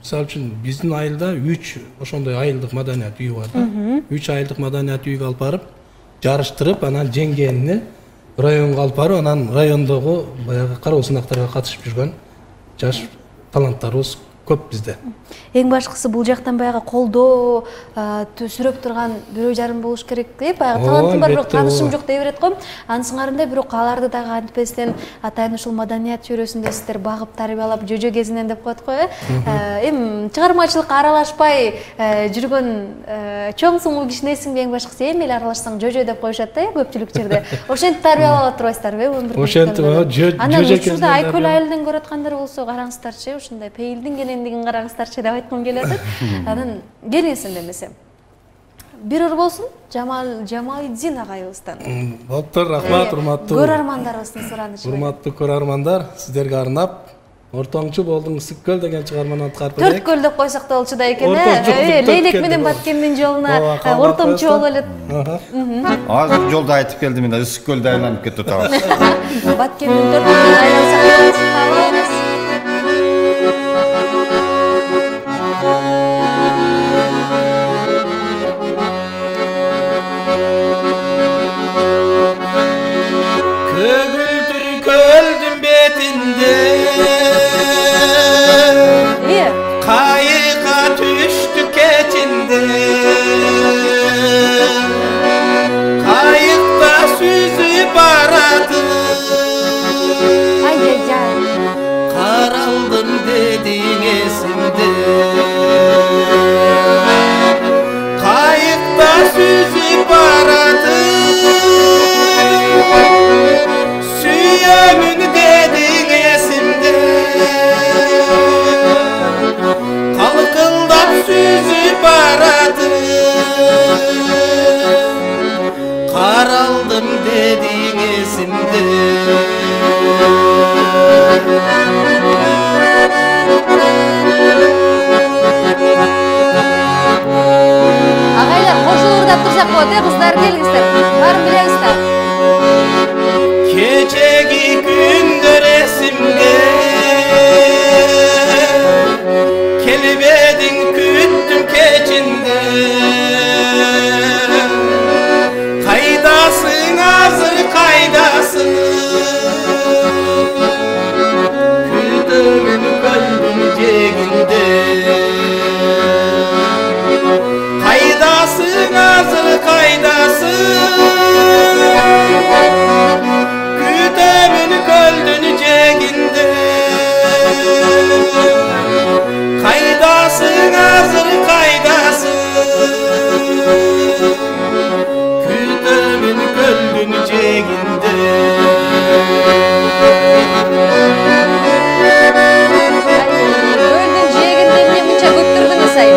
мисалы үчүн биздин айылда 3 ошондой айылдык маданият үйү бар да. 3 айылдык маданият үйгө алып барып, жарыштырып, анан жеңгенини районго алып барып, анан райондогу баягы кароо сынактарга катышып жүргөн жаш таланттарыбыз көп бизде. Эң башкысы бул жактан баягы колдоо сүрөп турган бирөө жарым болуш керек деп, баягы талантым бар, бирок таанышым жок дей берет го. Анысыңарында бирок аларды дагы антпестен атайын ушул маданият чөйрөсүндө сиздер багып тарбиялап жөжө кезинен деп коет го. Эми чыгармачылыкка аралашпай жүргөн чоң сумуу кишинин эсиңби эң башкысы? Эми эле аралашсаң жөжө деп коюшат да, көпчүлүк жерде. Ошентип тарбиялап турбайсыздарбы? Ошентип жөжө. Анан учурда Айкөл айылынан көрүп аткандар болсо караңыздарчы, ушундай пейилдин кенендигин караңыздарчы деп айткым келип атат. Анан келиңиз демесе. Бир ыр болсун Жамалиддин агайыбыздан. Болуптур, рахмат, урматтуу көрөрмандарыбыздын суранычы. Урматтуу көрөрмандар, сиздерге арнап Ортоңчу болдуң Ысык-көл деген чыгарманы аткарып берейик. Төрт көл деп койсок да болчу да экен, Лейлек менен Баткендин жолуна ортомчу болуп элет. Азыр жолду айтып келдим, мен Ысык-көлдө айланып кетип атабыз. Баткендин төрт көлүн айлансак Kayıka düştü keçinde эсимде кайыкта сүзүп баратып сүйөмүн дедиң эсимде калкылдап сүзүп баратып каралдым дедиң эсимде Агайлар кошулуп ырдап турсак болот, кыздар келиңиздер. Баарын билебиз да. Kechegi gündür esimge Kelibedin küttüm keçinde Kaydasın hazır kaydasın Kütümün kalbim ceginde Kaydasın hazır kaydasın Kütümün göldün ceginde Kaydasın hazır kaydasın Kütümün göldün ceginde Gölдүн жээгинде эмне мынча көптүрдүңүз ай?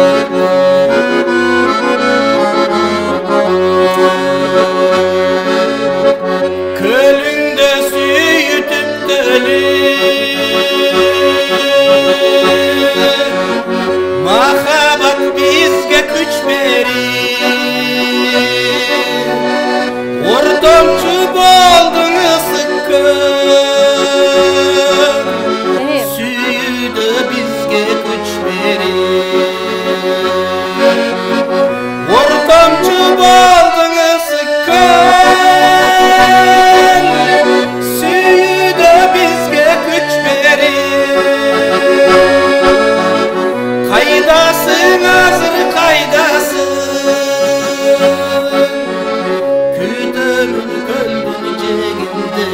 Kölünde süyütüp Mahabat bizge güç verir Ortamçı boldun ısıkkın Süyüdü bizge güç verir Ortamçı boldun ısıkkın Süyüdü bizge güç verir Kaydasın hazır kaydasın Kütümün gölgün ceginde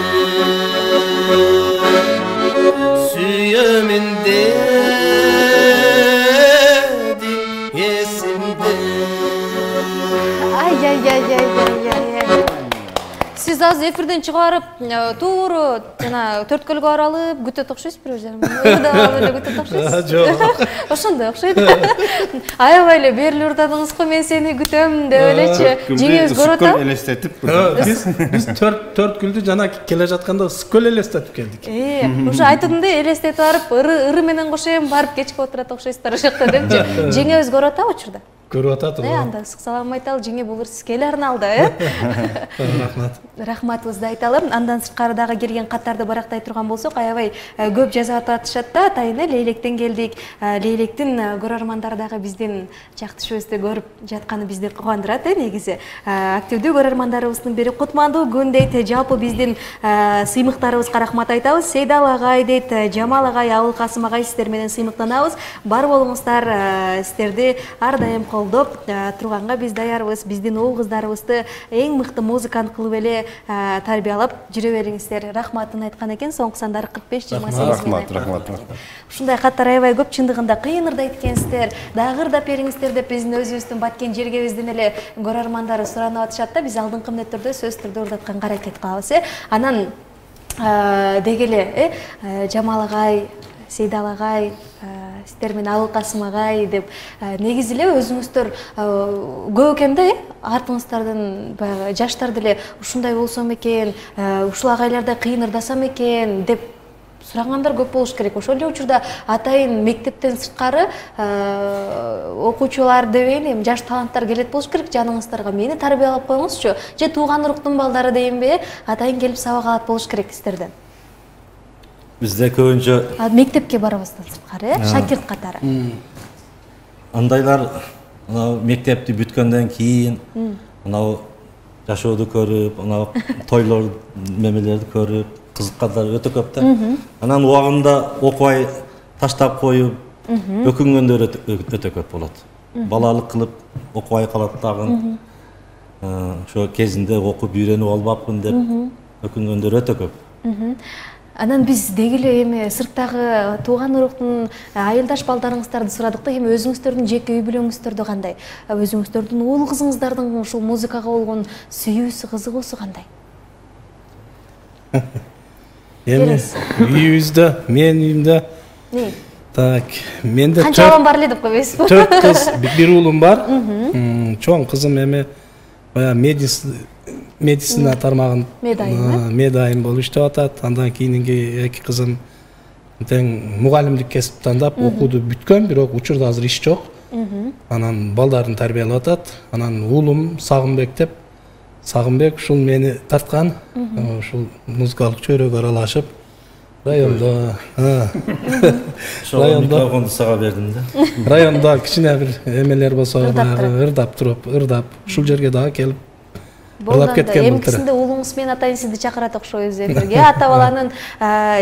Süyümün dedin esimde Ай. Сиз азыр эфирден чыгып барып, туура жана төрткөлгө аралып күтөт окшойсуз бир өзү. Ырдап эле күтөт окшойсуз. Жок. Ошондой окшойт. Аябай эле берилип ырдадыңыз го, мен сени күтөм деп элечи. Жеңебиз көрүп атабы? элестетип Биз төрт күлдү жана келе жатканда ысыккөл элестетип келдик. Ошо айтымды элестетип барып, ыры менен кошо эми барып кечке отурат окшойсуздар ошокто депчи. Жеңебиз көрүп атабы учурда? Көрүп атат. Анда ысык салам айталы, жеңе булур сизге эле арналды, Рахмат. Рахматыбызды айталы. Андан сырткары дагы келген каттарды барактай турган болсок, аябай көп жазып атышат да. Атайын Лейлектен келдик. Лейлектин көрөрмандары дагы биздин жактышыбызды көрүп жатканы бизди кубандырат, негизи. Активдүү көрөрмандарыбыздын бири Кутмандуу күн дейт. Жалпы биздин сыймыктарыбызга рахмат айтабыз. Сейдал агай дейт, Жамал агай, Абыл Касым агай, сиздер менен сыймыктанабыз. Бар болуңуздар, сиздерди ар дайым колдоп турганга биз даярбыз. Биздин уул кыздарыбызды эң мыкты музыкант кылып эле тарбиялап жүрө бериңиздер. Рахматын айткан экен. Соңку сандары 45-28. Рахмат. Ушундай каттар аябай көп, чындыгында кыйын ырдайт экенсиздер. Дагы ырдап бериңиздер деп биздин өзүбүздүн баткен жергебизден эле көрөрмандары суранып атышат да. Биз алдыңкы мүнөттөрдө сөз түрдө ырдатканга аракет кылабыз. Анан деги эле Жамал агай, Сейдал агай, сиздер менен Абыл Касым агай деп негизи эле өзүңүздөр көп экен да, артыңыздардан баягы жаштар деле ушундай болсом экен, ушул агайлардай кыйын ырдасам экен деп сурагандар көп болуш керек. Ошол эле учурда атайын мектептен сырткары окуучулар дебейин, эми жаш таланттар келет болуш керек жаныңыздарга. Мени тарбиялап коюңузчу. Же тууган уруктун балдары дейинби, атайын келип сабак алат болуш керек сиздерден. Бизде көбүнчө мектепке барабыздан сырткары, шакирт катары. Андайлар мектепти бүткөндөн кийин анау жашооду көрүп, анау тойлор мемелерди көрүп, кызыккандар өтө көп да. Анан убагында окубай таштап коюп, өкүнгөндөр өтө көп болот. Балалык кылып окубай калат дагы. Ошо кезинде окуп үйрөнүп албапмын деп өкүнгөндөр өтө көп. Анан биз деги эле эми сырттагы тууган уруктун айылдаш балдарыңыздарды сурадык да, эми өзүңүздөрдүн жеке үй бүлөңүздөрдө кандай? Өзүңүздөрдүн уул кызыңыздардын ушул музыкага болгон сүйүүсү, кызыгуусу кандай? Эми үйүбүздө, менин үйүмдө так, менде канча балам бар эле деп койбойсузбу? 4 кыз, бир уулум бар. Чоң кызым эми баягы медицина тармагын медайым болуп иштеп атат. Андан кийинки 2 кызым тең мугалимдик кесип тандап окууду бүткөн, бирок учурда азыр иш жок. Анан балдарын тарбиялап атат. Анан уулум Сагынбек ушул мени тарткан, ушул музыкалык чөйрөгө аралашып, райондо микрофонду сага бердим да. Райондо кичине бир эмелер болсо, ырдап туруп, ушул жерге дагы келип ырдап кеткен. Эмкисинде уулуңуз менен атайыңызды чакырат окшойбуз эфирге. Ата баланын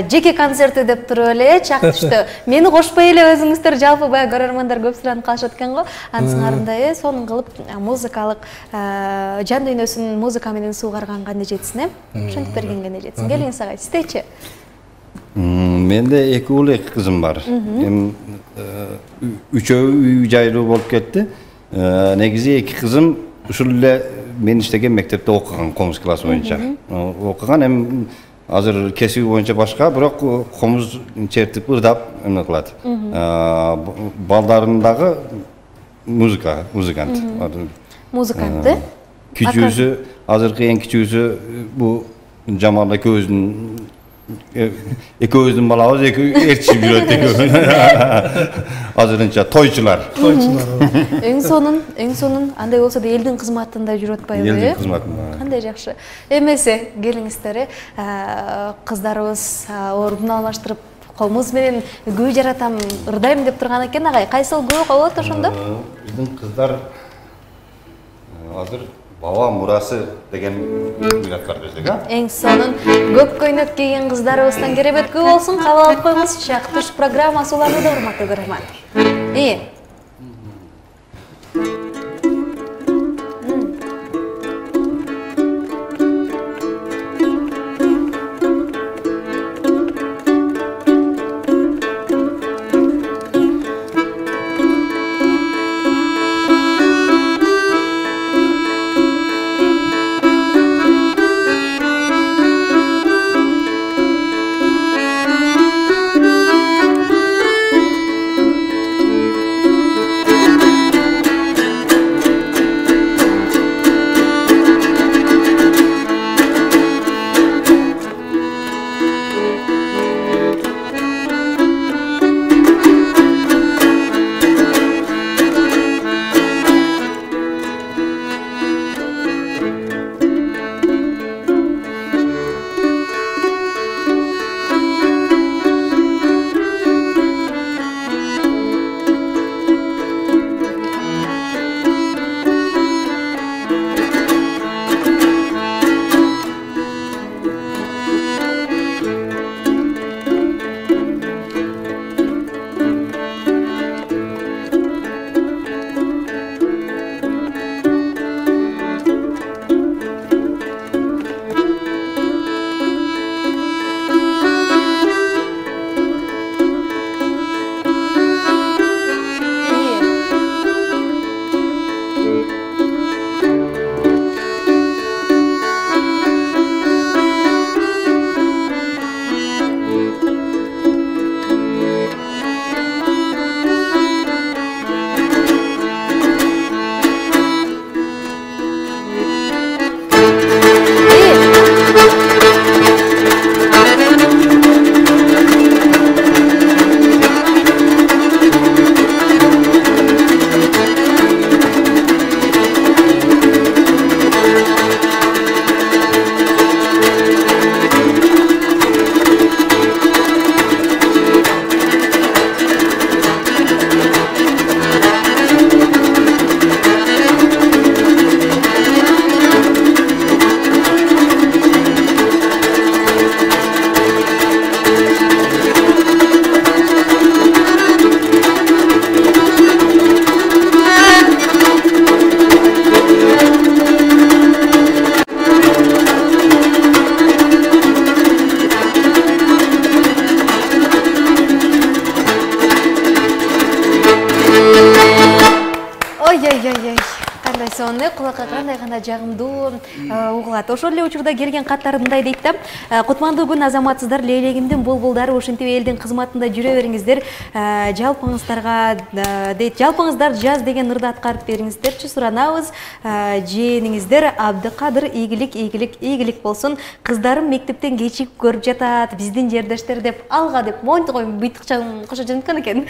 жеке концерти деп туруп эле чактышты. Мени кошпой эле өзүңүздөр жалпы баягы көрөрмандар көп суранып калышат экен го. Ансыңарында сонун кылып музыкалык жан дүйнөсүн музыка менен суугарганга эмне жетсин, ошентип бергенге эмне жетсин. Келиңиз ага, сиздечи? Менде 2 уул 2 кызым бар. Эми үчөө үй жайлуу болуп кетти. Негизи 2 кызым ушул эле мен иштеген мектепте окуган, комуз классы боюнча. Окуган, эми азыр кесиби боюнча башка, бирок комуз чертип ырдап эмне кылат. Балдарым дагы музыкант. Музыкант. Кичүүсү, азыркы эң кичүүсү бу Жамал экөөбүздүн балабыз ээрчип жүрөт экөө. Азырынча тойчулар. Эң сонун. Андай болсо да элдин кызматында жүрүп атпайбы? Элдин кызматында. Кандай жакшы. Эмесе, келиңиздер, кыздарыбыз ордун алмаштырып, комуз менен күй жаратам, ырдайм деп турган экен. Агай, кайсыл күй болот ошондо? Биздин кыздар азыр Баба мурасы деген күйөт бар бизде, а? Эң сонун көк көйнөк кийген кыздарыбыздан керебет күй болсун. Кабыл алып коюңуз. Чактыш программасы уланууда, урматтуу көрөрман. кандай сонун, кулакка кандай гана жагымдуу угулат. Ошол эле учурда келген каттар мындай дейт да: кутмандуу күн азаматсыздар, лейлегимдин булбулдары, ушинтип элдин кызматында жүрө бериңиздер. Жалпыңыздарга дейт, жалпыңыздар жаз деген ырды аткарып бериңиздерчи, суранабыз. Жээниңиздер Абдыкадыр ийгилик болсун. Кыздарым мектептен кечигип көрүп жатат, биздин жердештер деп алга деп монтип коюп быйтыкчан кошо жөнөткөн экен.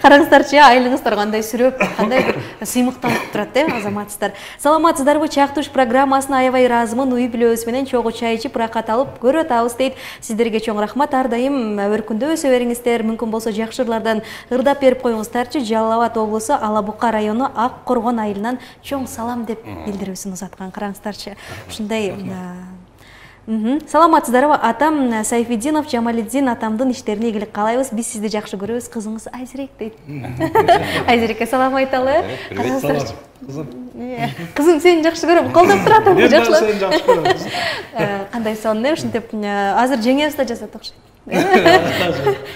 Караңыздарчы, айлыгыңыздар кандай сүрөп, кандай бир сыймыктанып турат, азаматсыздар. Саламатсыздарбы? Чактуш программасына аябай ыраазымын. Уй бүлөбүз менен чогуу чай ичип, рахат алып көрүп атабыз дейт. Сиздерге чоң рахмат. Ар дайым өркүндө өсө бериңиздер. Мүмкүн болсо жакшы ырлардан ырдап берип коюңуздарчы. Жалал Абад облусу Ала Бука району Ак Коргон айылынан чоң салам деп билдирүүсүн узаткан. Караңыздарчы, ушундай. Саламатсыздарбы? Атам Сайфиддинов Жамалиддин, атамдын иштерине ийгилик каалайбыз. Биз сизди жакшы көрөбүз. Кызыңыз Айзирек дейт. Айзирекке салам айталы. Караңыздарчы. Кызым сени жакшы көрөм. Колдоп турат, жакшылап. Сени жакшы көрөм. Кандай сонун, ушинтип азыр жеңебиз да жасат окшойт.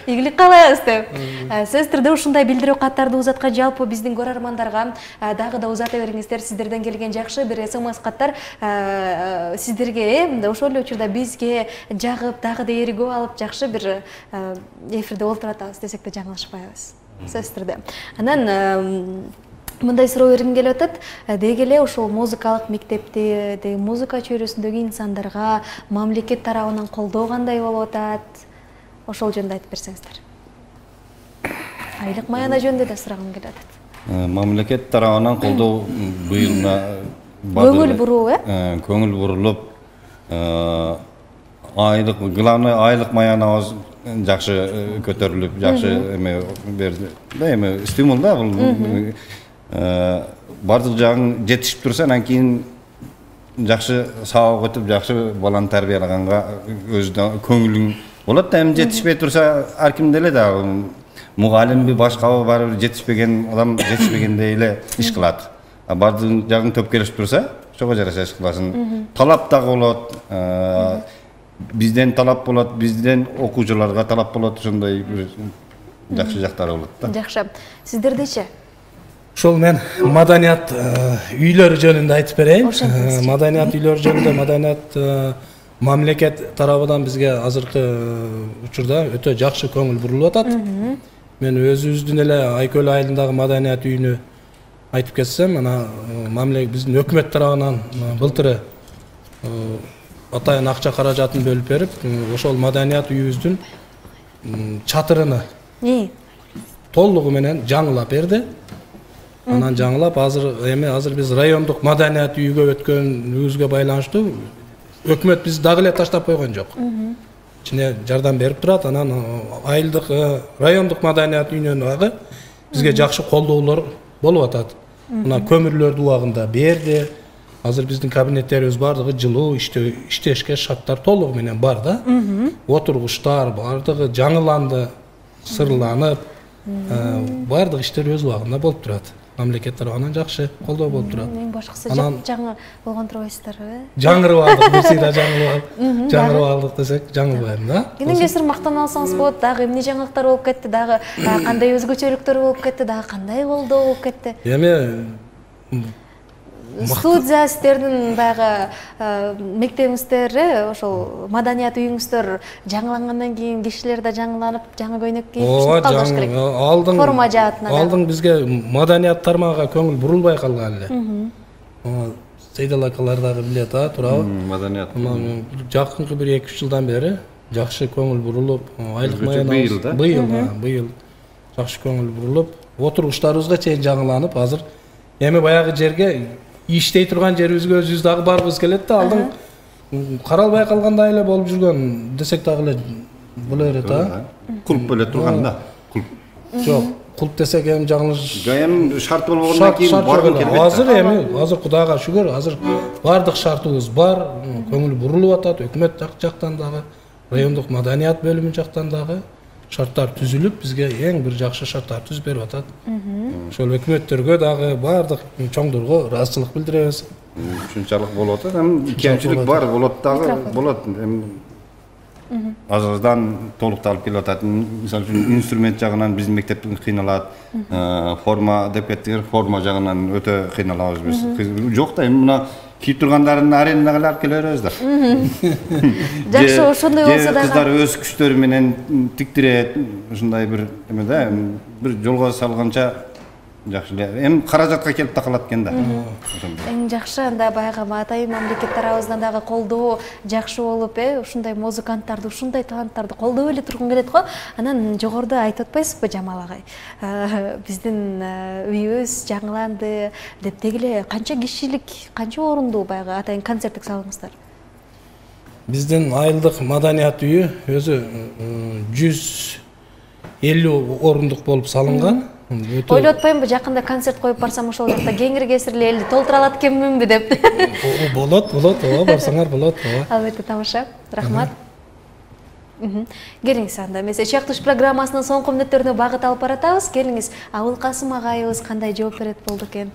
Ийгилик каалайбыз деп. Сөз түрдө ушундай билдирүү каттарды узаткан жалпы биздин көрөрмандарга дагы да узата бериңиздер. Сиздерден келген жакшы бир СМС каттар сиздерге ошол эле учурда бизге жагып, дагы да эргүү алып, жакшы бир эфирде олтура атабыз десек да жаңылышпайбыз. Сөз түрдө. Анан мындай суроо бергим келип атат. Деги эле ошол музыкалык мектепти, музыка чөйрөсүндөгү инсандарга мамлекет тарабынан колдоо кандай болуп атат? Ошол жөнүндө айтып берсеңиздер. Айлык маяна жөнүндө да сурагым келип атат. Мамлекет тарабынан колдоо быйыл көңүл буруу, көңүл бурулуп, айлык, главный айлык маянабыз жакшы көтөрүлүп, жакшы эме берди. Эме стимул да бул. Бардык жагың жетишип турса, анан кийин жакшы сабак өтүп, жакшы баланы тарбиялаганга өзүнө көңүлүң болот да. Эми жетишпей турса, ар ким деле да мугалимби, башкабы барып жетишпеген адам жетишпегендей эле иш кылат. Бардык жагың төп келишип турса, ошого жараша иш кыласың. Талап дагы болот. Бизден талап болот, бизден окуучуларга талап болот, ошондой бир жакшы жактары болот да. Жакшы. Сиздердечи? Ошол мен маданият үйлөрү жөнүндө айтып берейин. Маданият үйлөрү жөнүндө маданият мамлекет тарабынан бизге азыркы учурда өтө жакшы көңүл бурулуп атат. Мен өзүбүздүн эле Айкөл айылындагы маданият үйүнө айтып кетсем, ана мамлекет биздин өкмөт тарабынан былтыры атайын акча каражатын бөлүп берип, ошол маданият үйүбүздүн чатырыны толугу менен жаңылап берди. Анан жаңылап, азыр биз райондук маданият үйгө өткөнүбүзгө байланыштуу өкмөт биз дагы эле таштап койгон жок. Ичине жардам берип турат. Анан айылдык райондук маданият үйүнөн дагы бизге жакшы колдоолор болуп атат. Мына көмүрлөрдү убагында берди. Азыр биздин кабинеттерибиз бардыгы жылуу, иштешке шарттар толугу менен бар да. Отургучтар бардыгы жаңыланды, сырланып, бардык иштер өз убагында болуп турат. Мамлекет тарабынан жакшы колдоо болуп турат. Эң башкысы жаңы болгон турбайсыздарбы? Жаңырып алдык, бир сыйда жаңырып алдык десек, жаңылбайм да. Кенен кесир мактана алсаңыз болот, дагы эмне жаңылыктар болуп кетти, дагы кандай өзгөчөлүктөр болуп кетти, дагы кандай колдоо болуп кетти? Эми студия сиздердин баягы мектебиңиздер, ошол маданият үйүңүздөр жаңылангандан кийин кишилер да жаңыланып, жаңы көйнөк кийип чыгып калыш керек. Форма жаатынан. Алдың бизге маданият тармагына көңүл бурулбай калган эле. Сейдал акалар дагы билет, туурабы? Маданият. Жакынкы бир 2-3 жылдан бери жакшы көңүл бурулуп, айлык маянабыз быйыл жакшы көңүл бурулуп, отургучтарыбызга чейин жаңыланып, азыр эми баягы жерге иштей турган жерибизге өзүбүз дагы баргыбыз келет да. Алдың каралбай калгандай эле болуп жүргөн десек дагы эле боло берет да. Кулп эле турган да. Жок, кулп десек эми жаңылыш. Эми шарт болбогондон кийин баргым келбейт. Азыр Кудайга шүгүр, азыр бардык шартыбыз бар, көңүл бурулуп атат. Өкмөт жактан дагы, райондук маданият бөлүмү жактан дагы шарттар түзүлүп, бизге эң бир жакшы шарттар түзүп берип атат. Ошол өкмөттөргө дагы бардык чоңдорго ыраазычылык билдиребиз. Ушунчалык болуп атат. Эми кемчилик бар, болот дагы болот. Эми азырдан толукталып келип атат. Мисалы үчүн инструмент жагынан биздин мектеп кыйналат. Форма деп кеттиңер, форма жагынан өтө кыйналабыз биз. Жок да, эми мына кийип тургандарын аренага алып келе беребиз да. Жакшы, ошондой болсо да кыздар өз күчтөрү менен тиктирет, ушундай бир эме да, бир жолго салганча жакшы эле. Эми каражатка келип такалат экен да. Эң жакшы анда баягы атайын мамлекет тарабыбыздан дагы колдоо жакшы болуп, ушундай музыканттарды, ушундай таланттарды колдоп эле тургун келет го. Анан жогоруда айтып атпайсызбы Жамал агай? Биздин үйүбүз жаңыланды деп дегиле канча кишилик, канча орундуу баягы атайын концерттик салыңыздар? Биздин айылдык маданият үйү өзү 150 орундук болуп салынган. Ойлоп атпаймынбы, жакында концерт коюп барсам ошол жакта кеңири кесирле элди толтура алат экенминби деп. Болот, ооба, барсаңар болот, ооба. Албетте тамаша. Рахмат. Келиңиз анда. Эмесе чактыш программасынын соңку мүнөттөрүнө багыт алып баратабыз. Келиңиз, Абылкасым агайыбыз кандай жооп берет болду экен?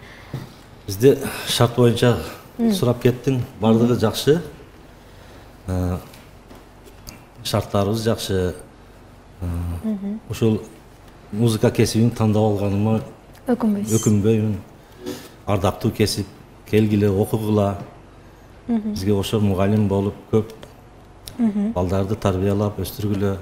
Бизде шарт боюнча сурап кеттиң, бардыгы жакшы. Шарттарыбыз жакшы. Ошол музыка кесибин тандап алганыма өкүнбөймүн. Ардактуу кесип, келгиле, окугула. Бизге ошол мугалим болуп көп балдарды тарбиялап, өстүргүлө.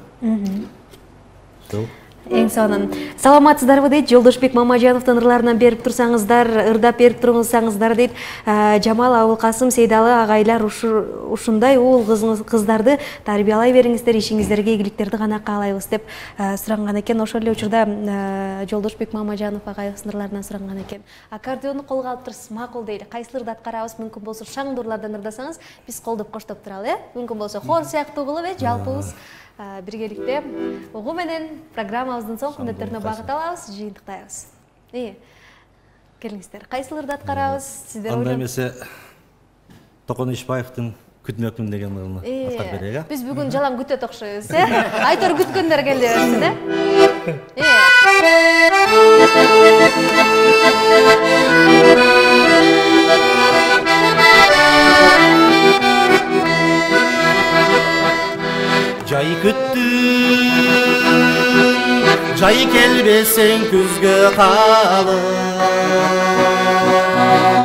Эң сонун. Саламатсыздарбы дейт Жолдошбек Мамажановдун ырларынан берип турсаңыздар, ырдап берип турсаңыздар дейт. Жамал, Абылкасым, Сейдалы агайлар ушундай уул кыздарды тарбиялай бериңиздер, ишиңиздерге ийгиликтерди гана каалайбыз деп суранган экен. Ошол эле учурда Жолдошбек Мамажанов агайыбыздын ырларынан суранган экен. Аккордеонду колго алып турсуз, макул дейли. Кайсы ырды аткарабыз, мүмкүн болсо шаңдуу ырлардан ырдасаңыз, биз колдоп коштоп туралы, Мүмкүн болсо хор сыяктуу кылып, жалпыбыз биргеликте угуу менен программабыздын соңку мүнөттөрүнө багыт алабыз, жыйынтыктайбыз. Келиңиздер, кайсы ырды аткарабыз? Сиздер анда эмесе Токон Ишбаевдин Күтмөкмүн деген ырын аткарып берейик. Биз бүгүн жалаң күтөт окшойбуз, Айтор күткөндөр келе берсин, Жай күттүм, жай келбесең күзгө калып.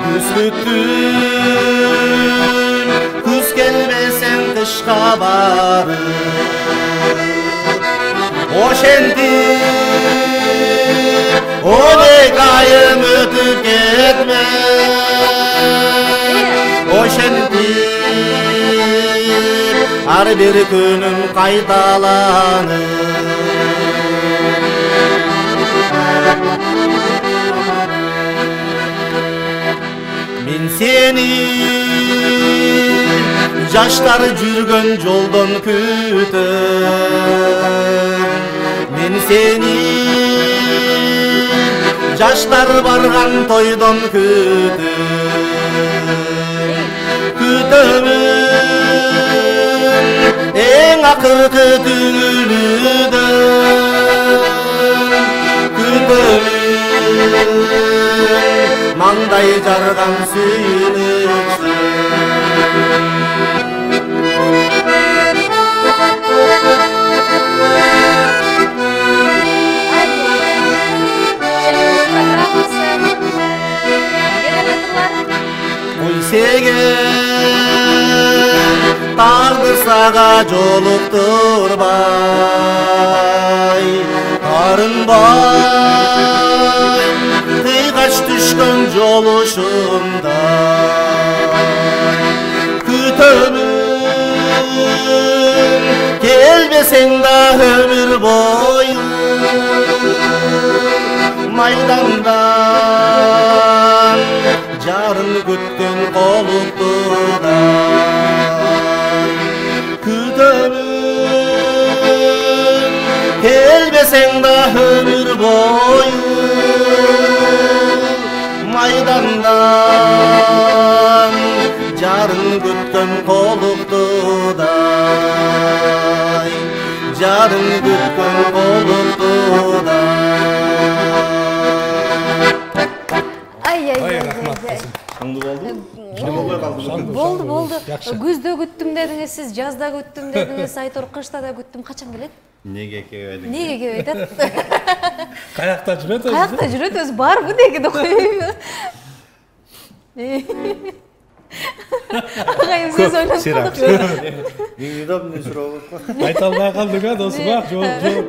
Күз күттүм, күз келбесең кышка барып. Ошентип, 12 айым өтүп кетмек. Ошентип ар бир күнүм кайталанып. Мен сени жаштар жүргөн жолдон күтөм. Мен сени жаштар барган тойдон күтөм. Эң акыркы түнүдөн күтөмүн, маңдай жарган сүйүнүктү. Тагдыр сага жолуктурбай, арынбай, кыйгач түшкөн жолушумда. Күтөмүн, келбесең да өмүр бою, майдандан жарын күткөн колуктуда. Күтөмүн, келбесең да өмүр бою, майдандан жарын күткөн колуктудай, жарын күткөн колуктудай. Ай, рахмат. Шаңды болду. Болбой калды. Болду. Күздө күттүм дедиңиз, сиз жазда күттүм дедиңиз, Айтор кышта да күттүм. Качан келет? Неге келбейт? Неге келбейт атат? Каякта жүрөт өзү? Каякта жүрөт өзү, барбы деген да коюйбу. Агайым сиз ойлоп калдык. Неудобный суроо болуп. Айта албай калдык а досума. Жок.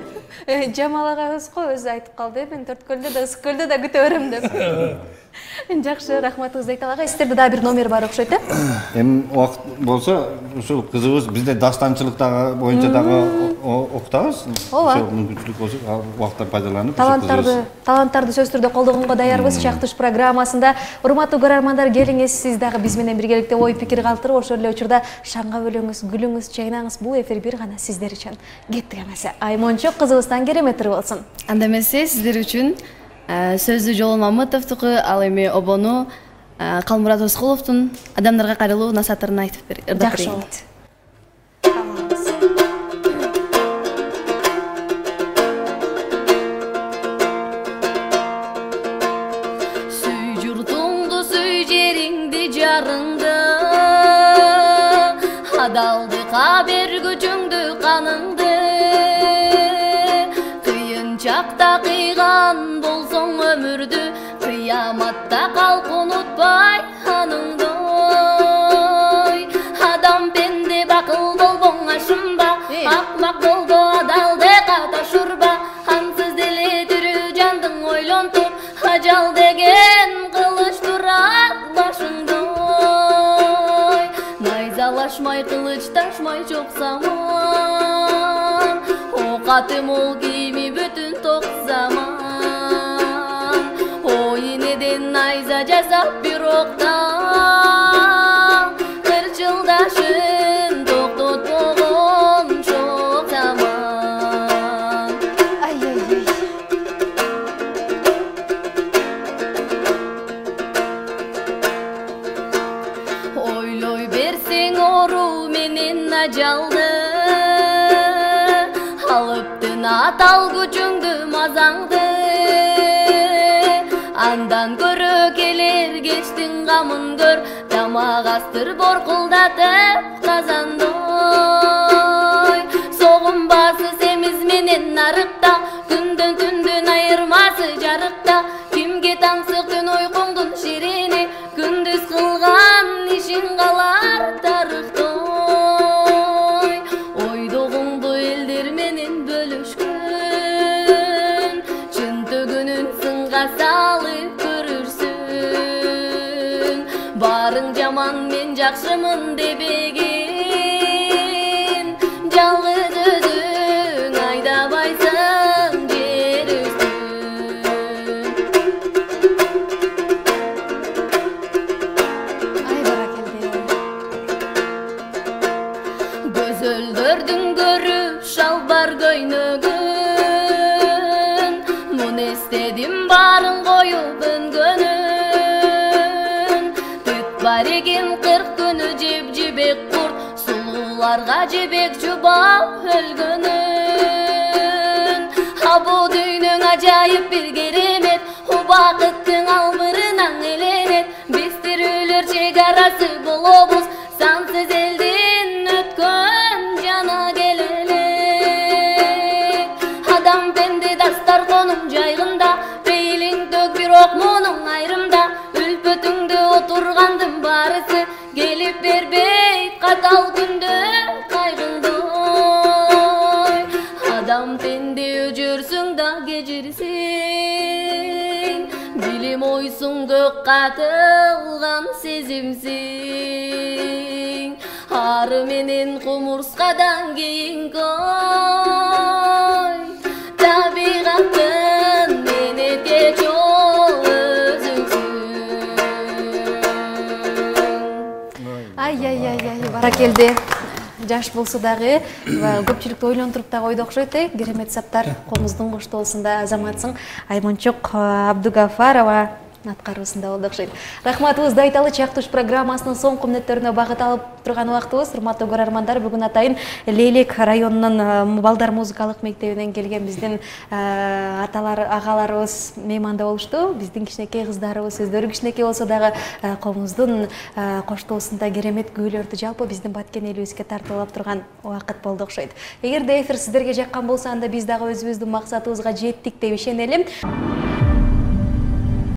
Жамал агайыбыз го өзү айтып калды, мен Төрткөлдө да Ысык-Көлдө да күтө берем деп. Жакшы, рахматыңызды айта алайын. Сиздерде дагы бир номер бар окшойт, э? Эми убакыт болсо, ушул кызыбыз бизде дастанчылык дагы боюнча дагы окутабыз. Ошол мүмкүнчүлүк болсо, убакыттан пайдаланып, таланттарды сөзсүз түрдө колдогонго даярбыз. Чактыш программасында урматтуу көрөрмандар, келиңиз, сиз дагы биз менен биргеликте ой пикир калтырып, ошол эле учурда шаңга бөлөңүз, күлүңүз, чайнаңыз. Бул эфир бир гана сиздер үчүн. Кеттик эмесе. Аймончок кызыбыздан керемет болсун. Анда эмесе сиздер үчүн сөздү Жолон Мамытовдуку, ал эми обону Калмурат Оскуловдун Адамдарга кайрылуу насаатырын айтып берейин. Жакшы болот. Сүй журтуңду, сүй жериңди, жарыңды, адалдыкка бергүчүңдү, каныңды. Кыйынчакта кыйган болсоң өмүрдү, кыяматта калк унутпай аныңды. Адам пенде бакыл болбоң ашынба, акмак болду адалдыкка ташурба. Ансыз деле тирүү жандың ойлонтуп, ажал деген кылыч турат башыңды. Найзалашмай кылыч ташмай чоксаман, окаты мол кийими бүтүн ток заман. Ой энеден найза жасап бир октан, кырчылдашын токтотпогон чок заман. Ойлой берсең оору менен ажалды, алыптын атал күчүңдү, мазаңды. Андан көрө келер кечтин камын көр, тамак астыр боркулдатып казандой. Согунбасы семиз менен нарыкта, күндөн түндүн айырмасы жарыкта. Кимге таңсык түн уйкуңдун ширини, күндүз кылган ишин калар тарыхтой. Ойдогуңду элдер менен бөлүшкөн, чын төгүнүн сынга салып көрүрсүн. Барың жаман мен жакшымын дебеген, жалгыз өзүң айдабайсың жер үстүн. Ай баракелде. Көзөлдөрдүн көрүп шалбар көйнөгүн, мун эстедим барын коюп өнгөнүн. Түт бар экен 40 күнү жеп-жебек курт, сулууларга жебек жубап өлгөнүн. А бул дүйнөң ажайып бир керемет, убакыттын албырынан эленет. Биз тирүүлөр чек арасы болобуз, сансыз элдин өткөн жана келелек. Адам пенде дастарконун жайгында, пейлиң төк бирок мунуң айрымда. Үлпөтүңдө отургандын барысы, келип бербейт катал күндө кайгыңдой. Адам пенде өжөрсүң да кечирсиң, билим ойсуң көк катылган сезимсиң. Ары менен кумурскадан кийинки ой, табигаттын менеткеч ол өзүңсүң. Ай, баракелде. Жаш болсо дагы көпчүлүктү ойлонтуруп дагы ойдо окшойт, керемет саптар. Комуздун коштоосунда азаматсың. Аймончок Абдугафарова аткаруусунда болду окшойт. Рахматыбызды айталы. Чактуш программасынын соңку мүнөттөрүнө багыт алып турган убактыбыз. Урматтуу көрөрмандар, бүгүн атайын Лейлек районунун балдар музыкалык мектебинен келген биздин аталар, агаларыбыз мейманда болушту. Биздин кичинекей кыздарыбыз өздөрү кичинекей болсо дагы коомубуздун коштоосунда керемет күйлөрдү жалпы биздин баткен элибизге тартуулап турган убакыт болду окшойт. Эгерде эфир сиздерге жаккан болсо, анда биз дагы өзүбүздүн максатыбызга жеттик деп ишенелим.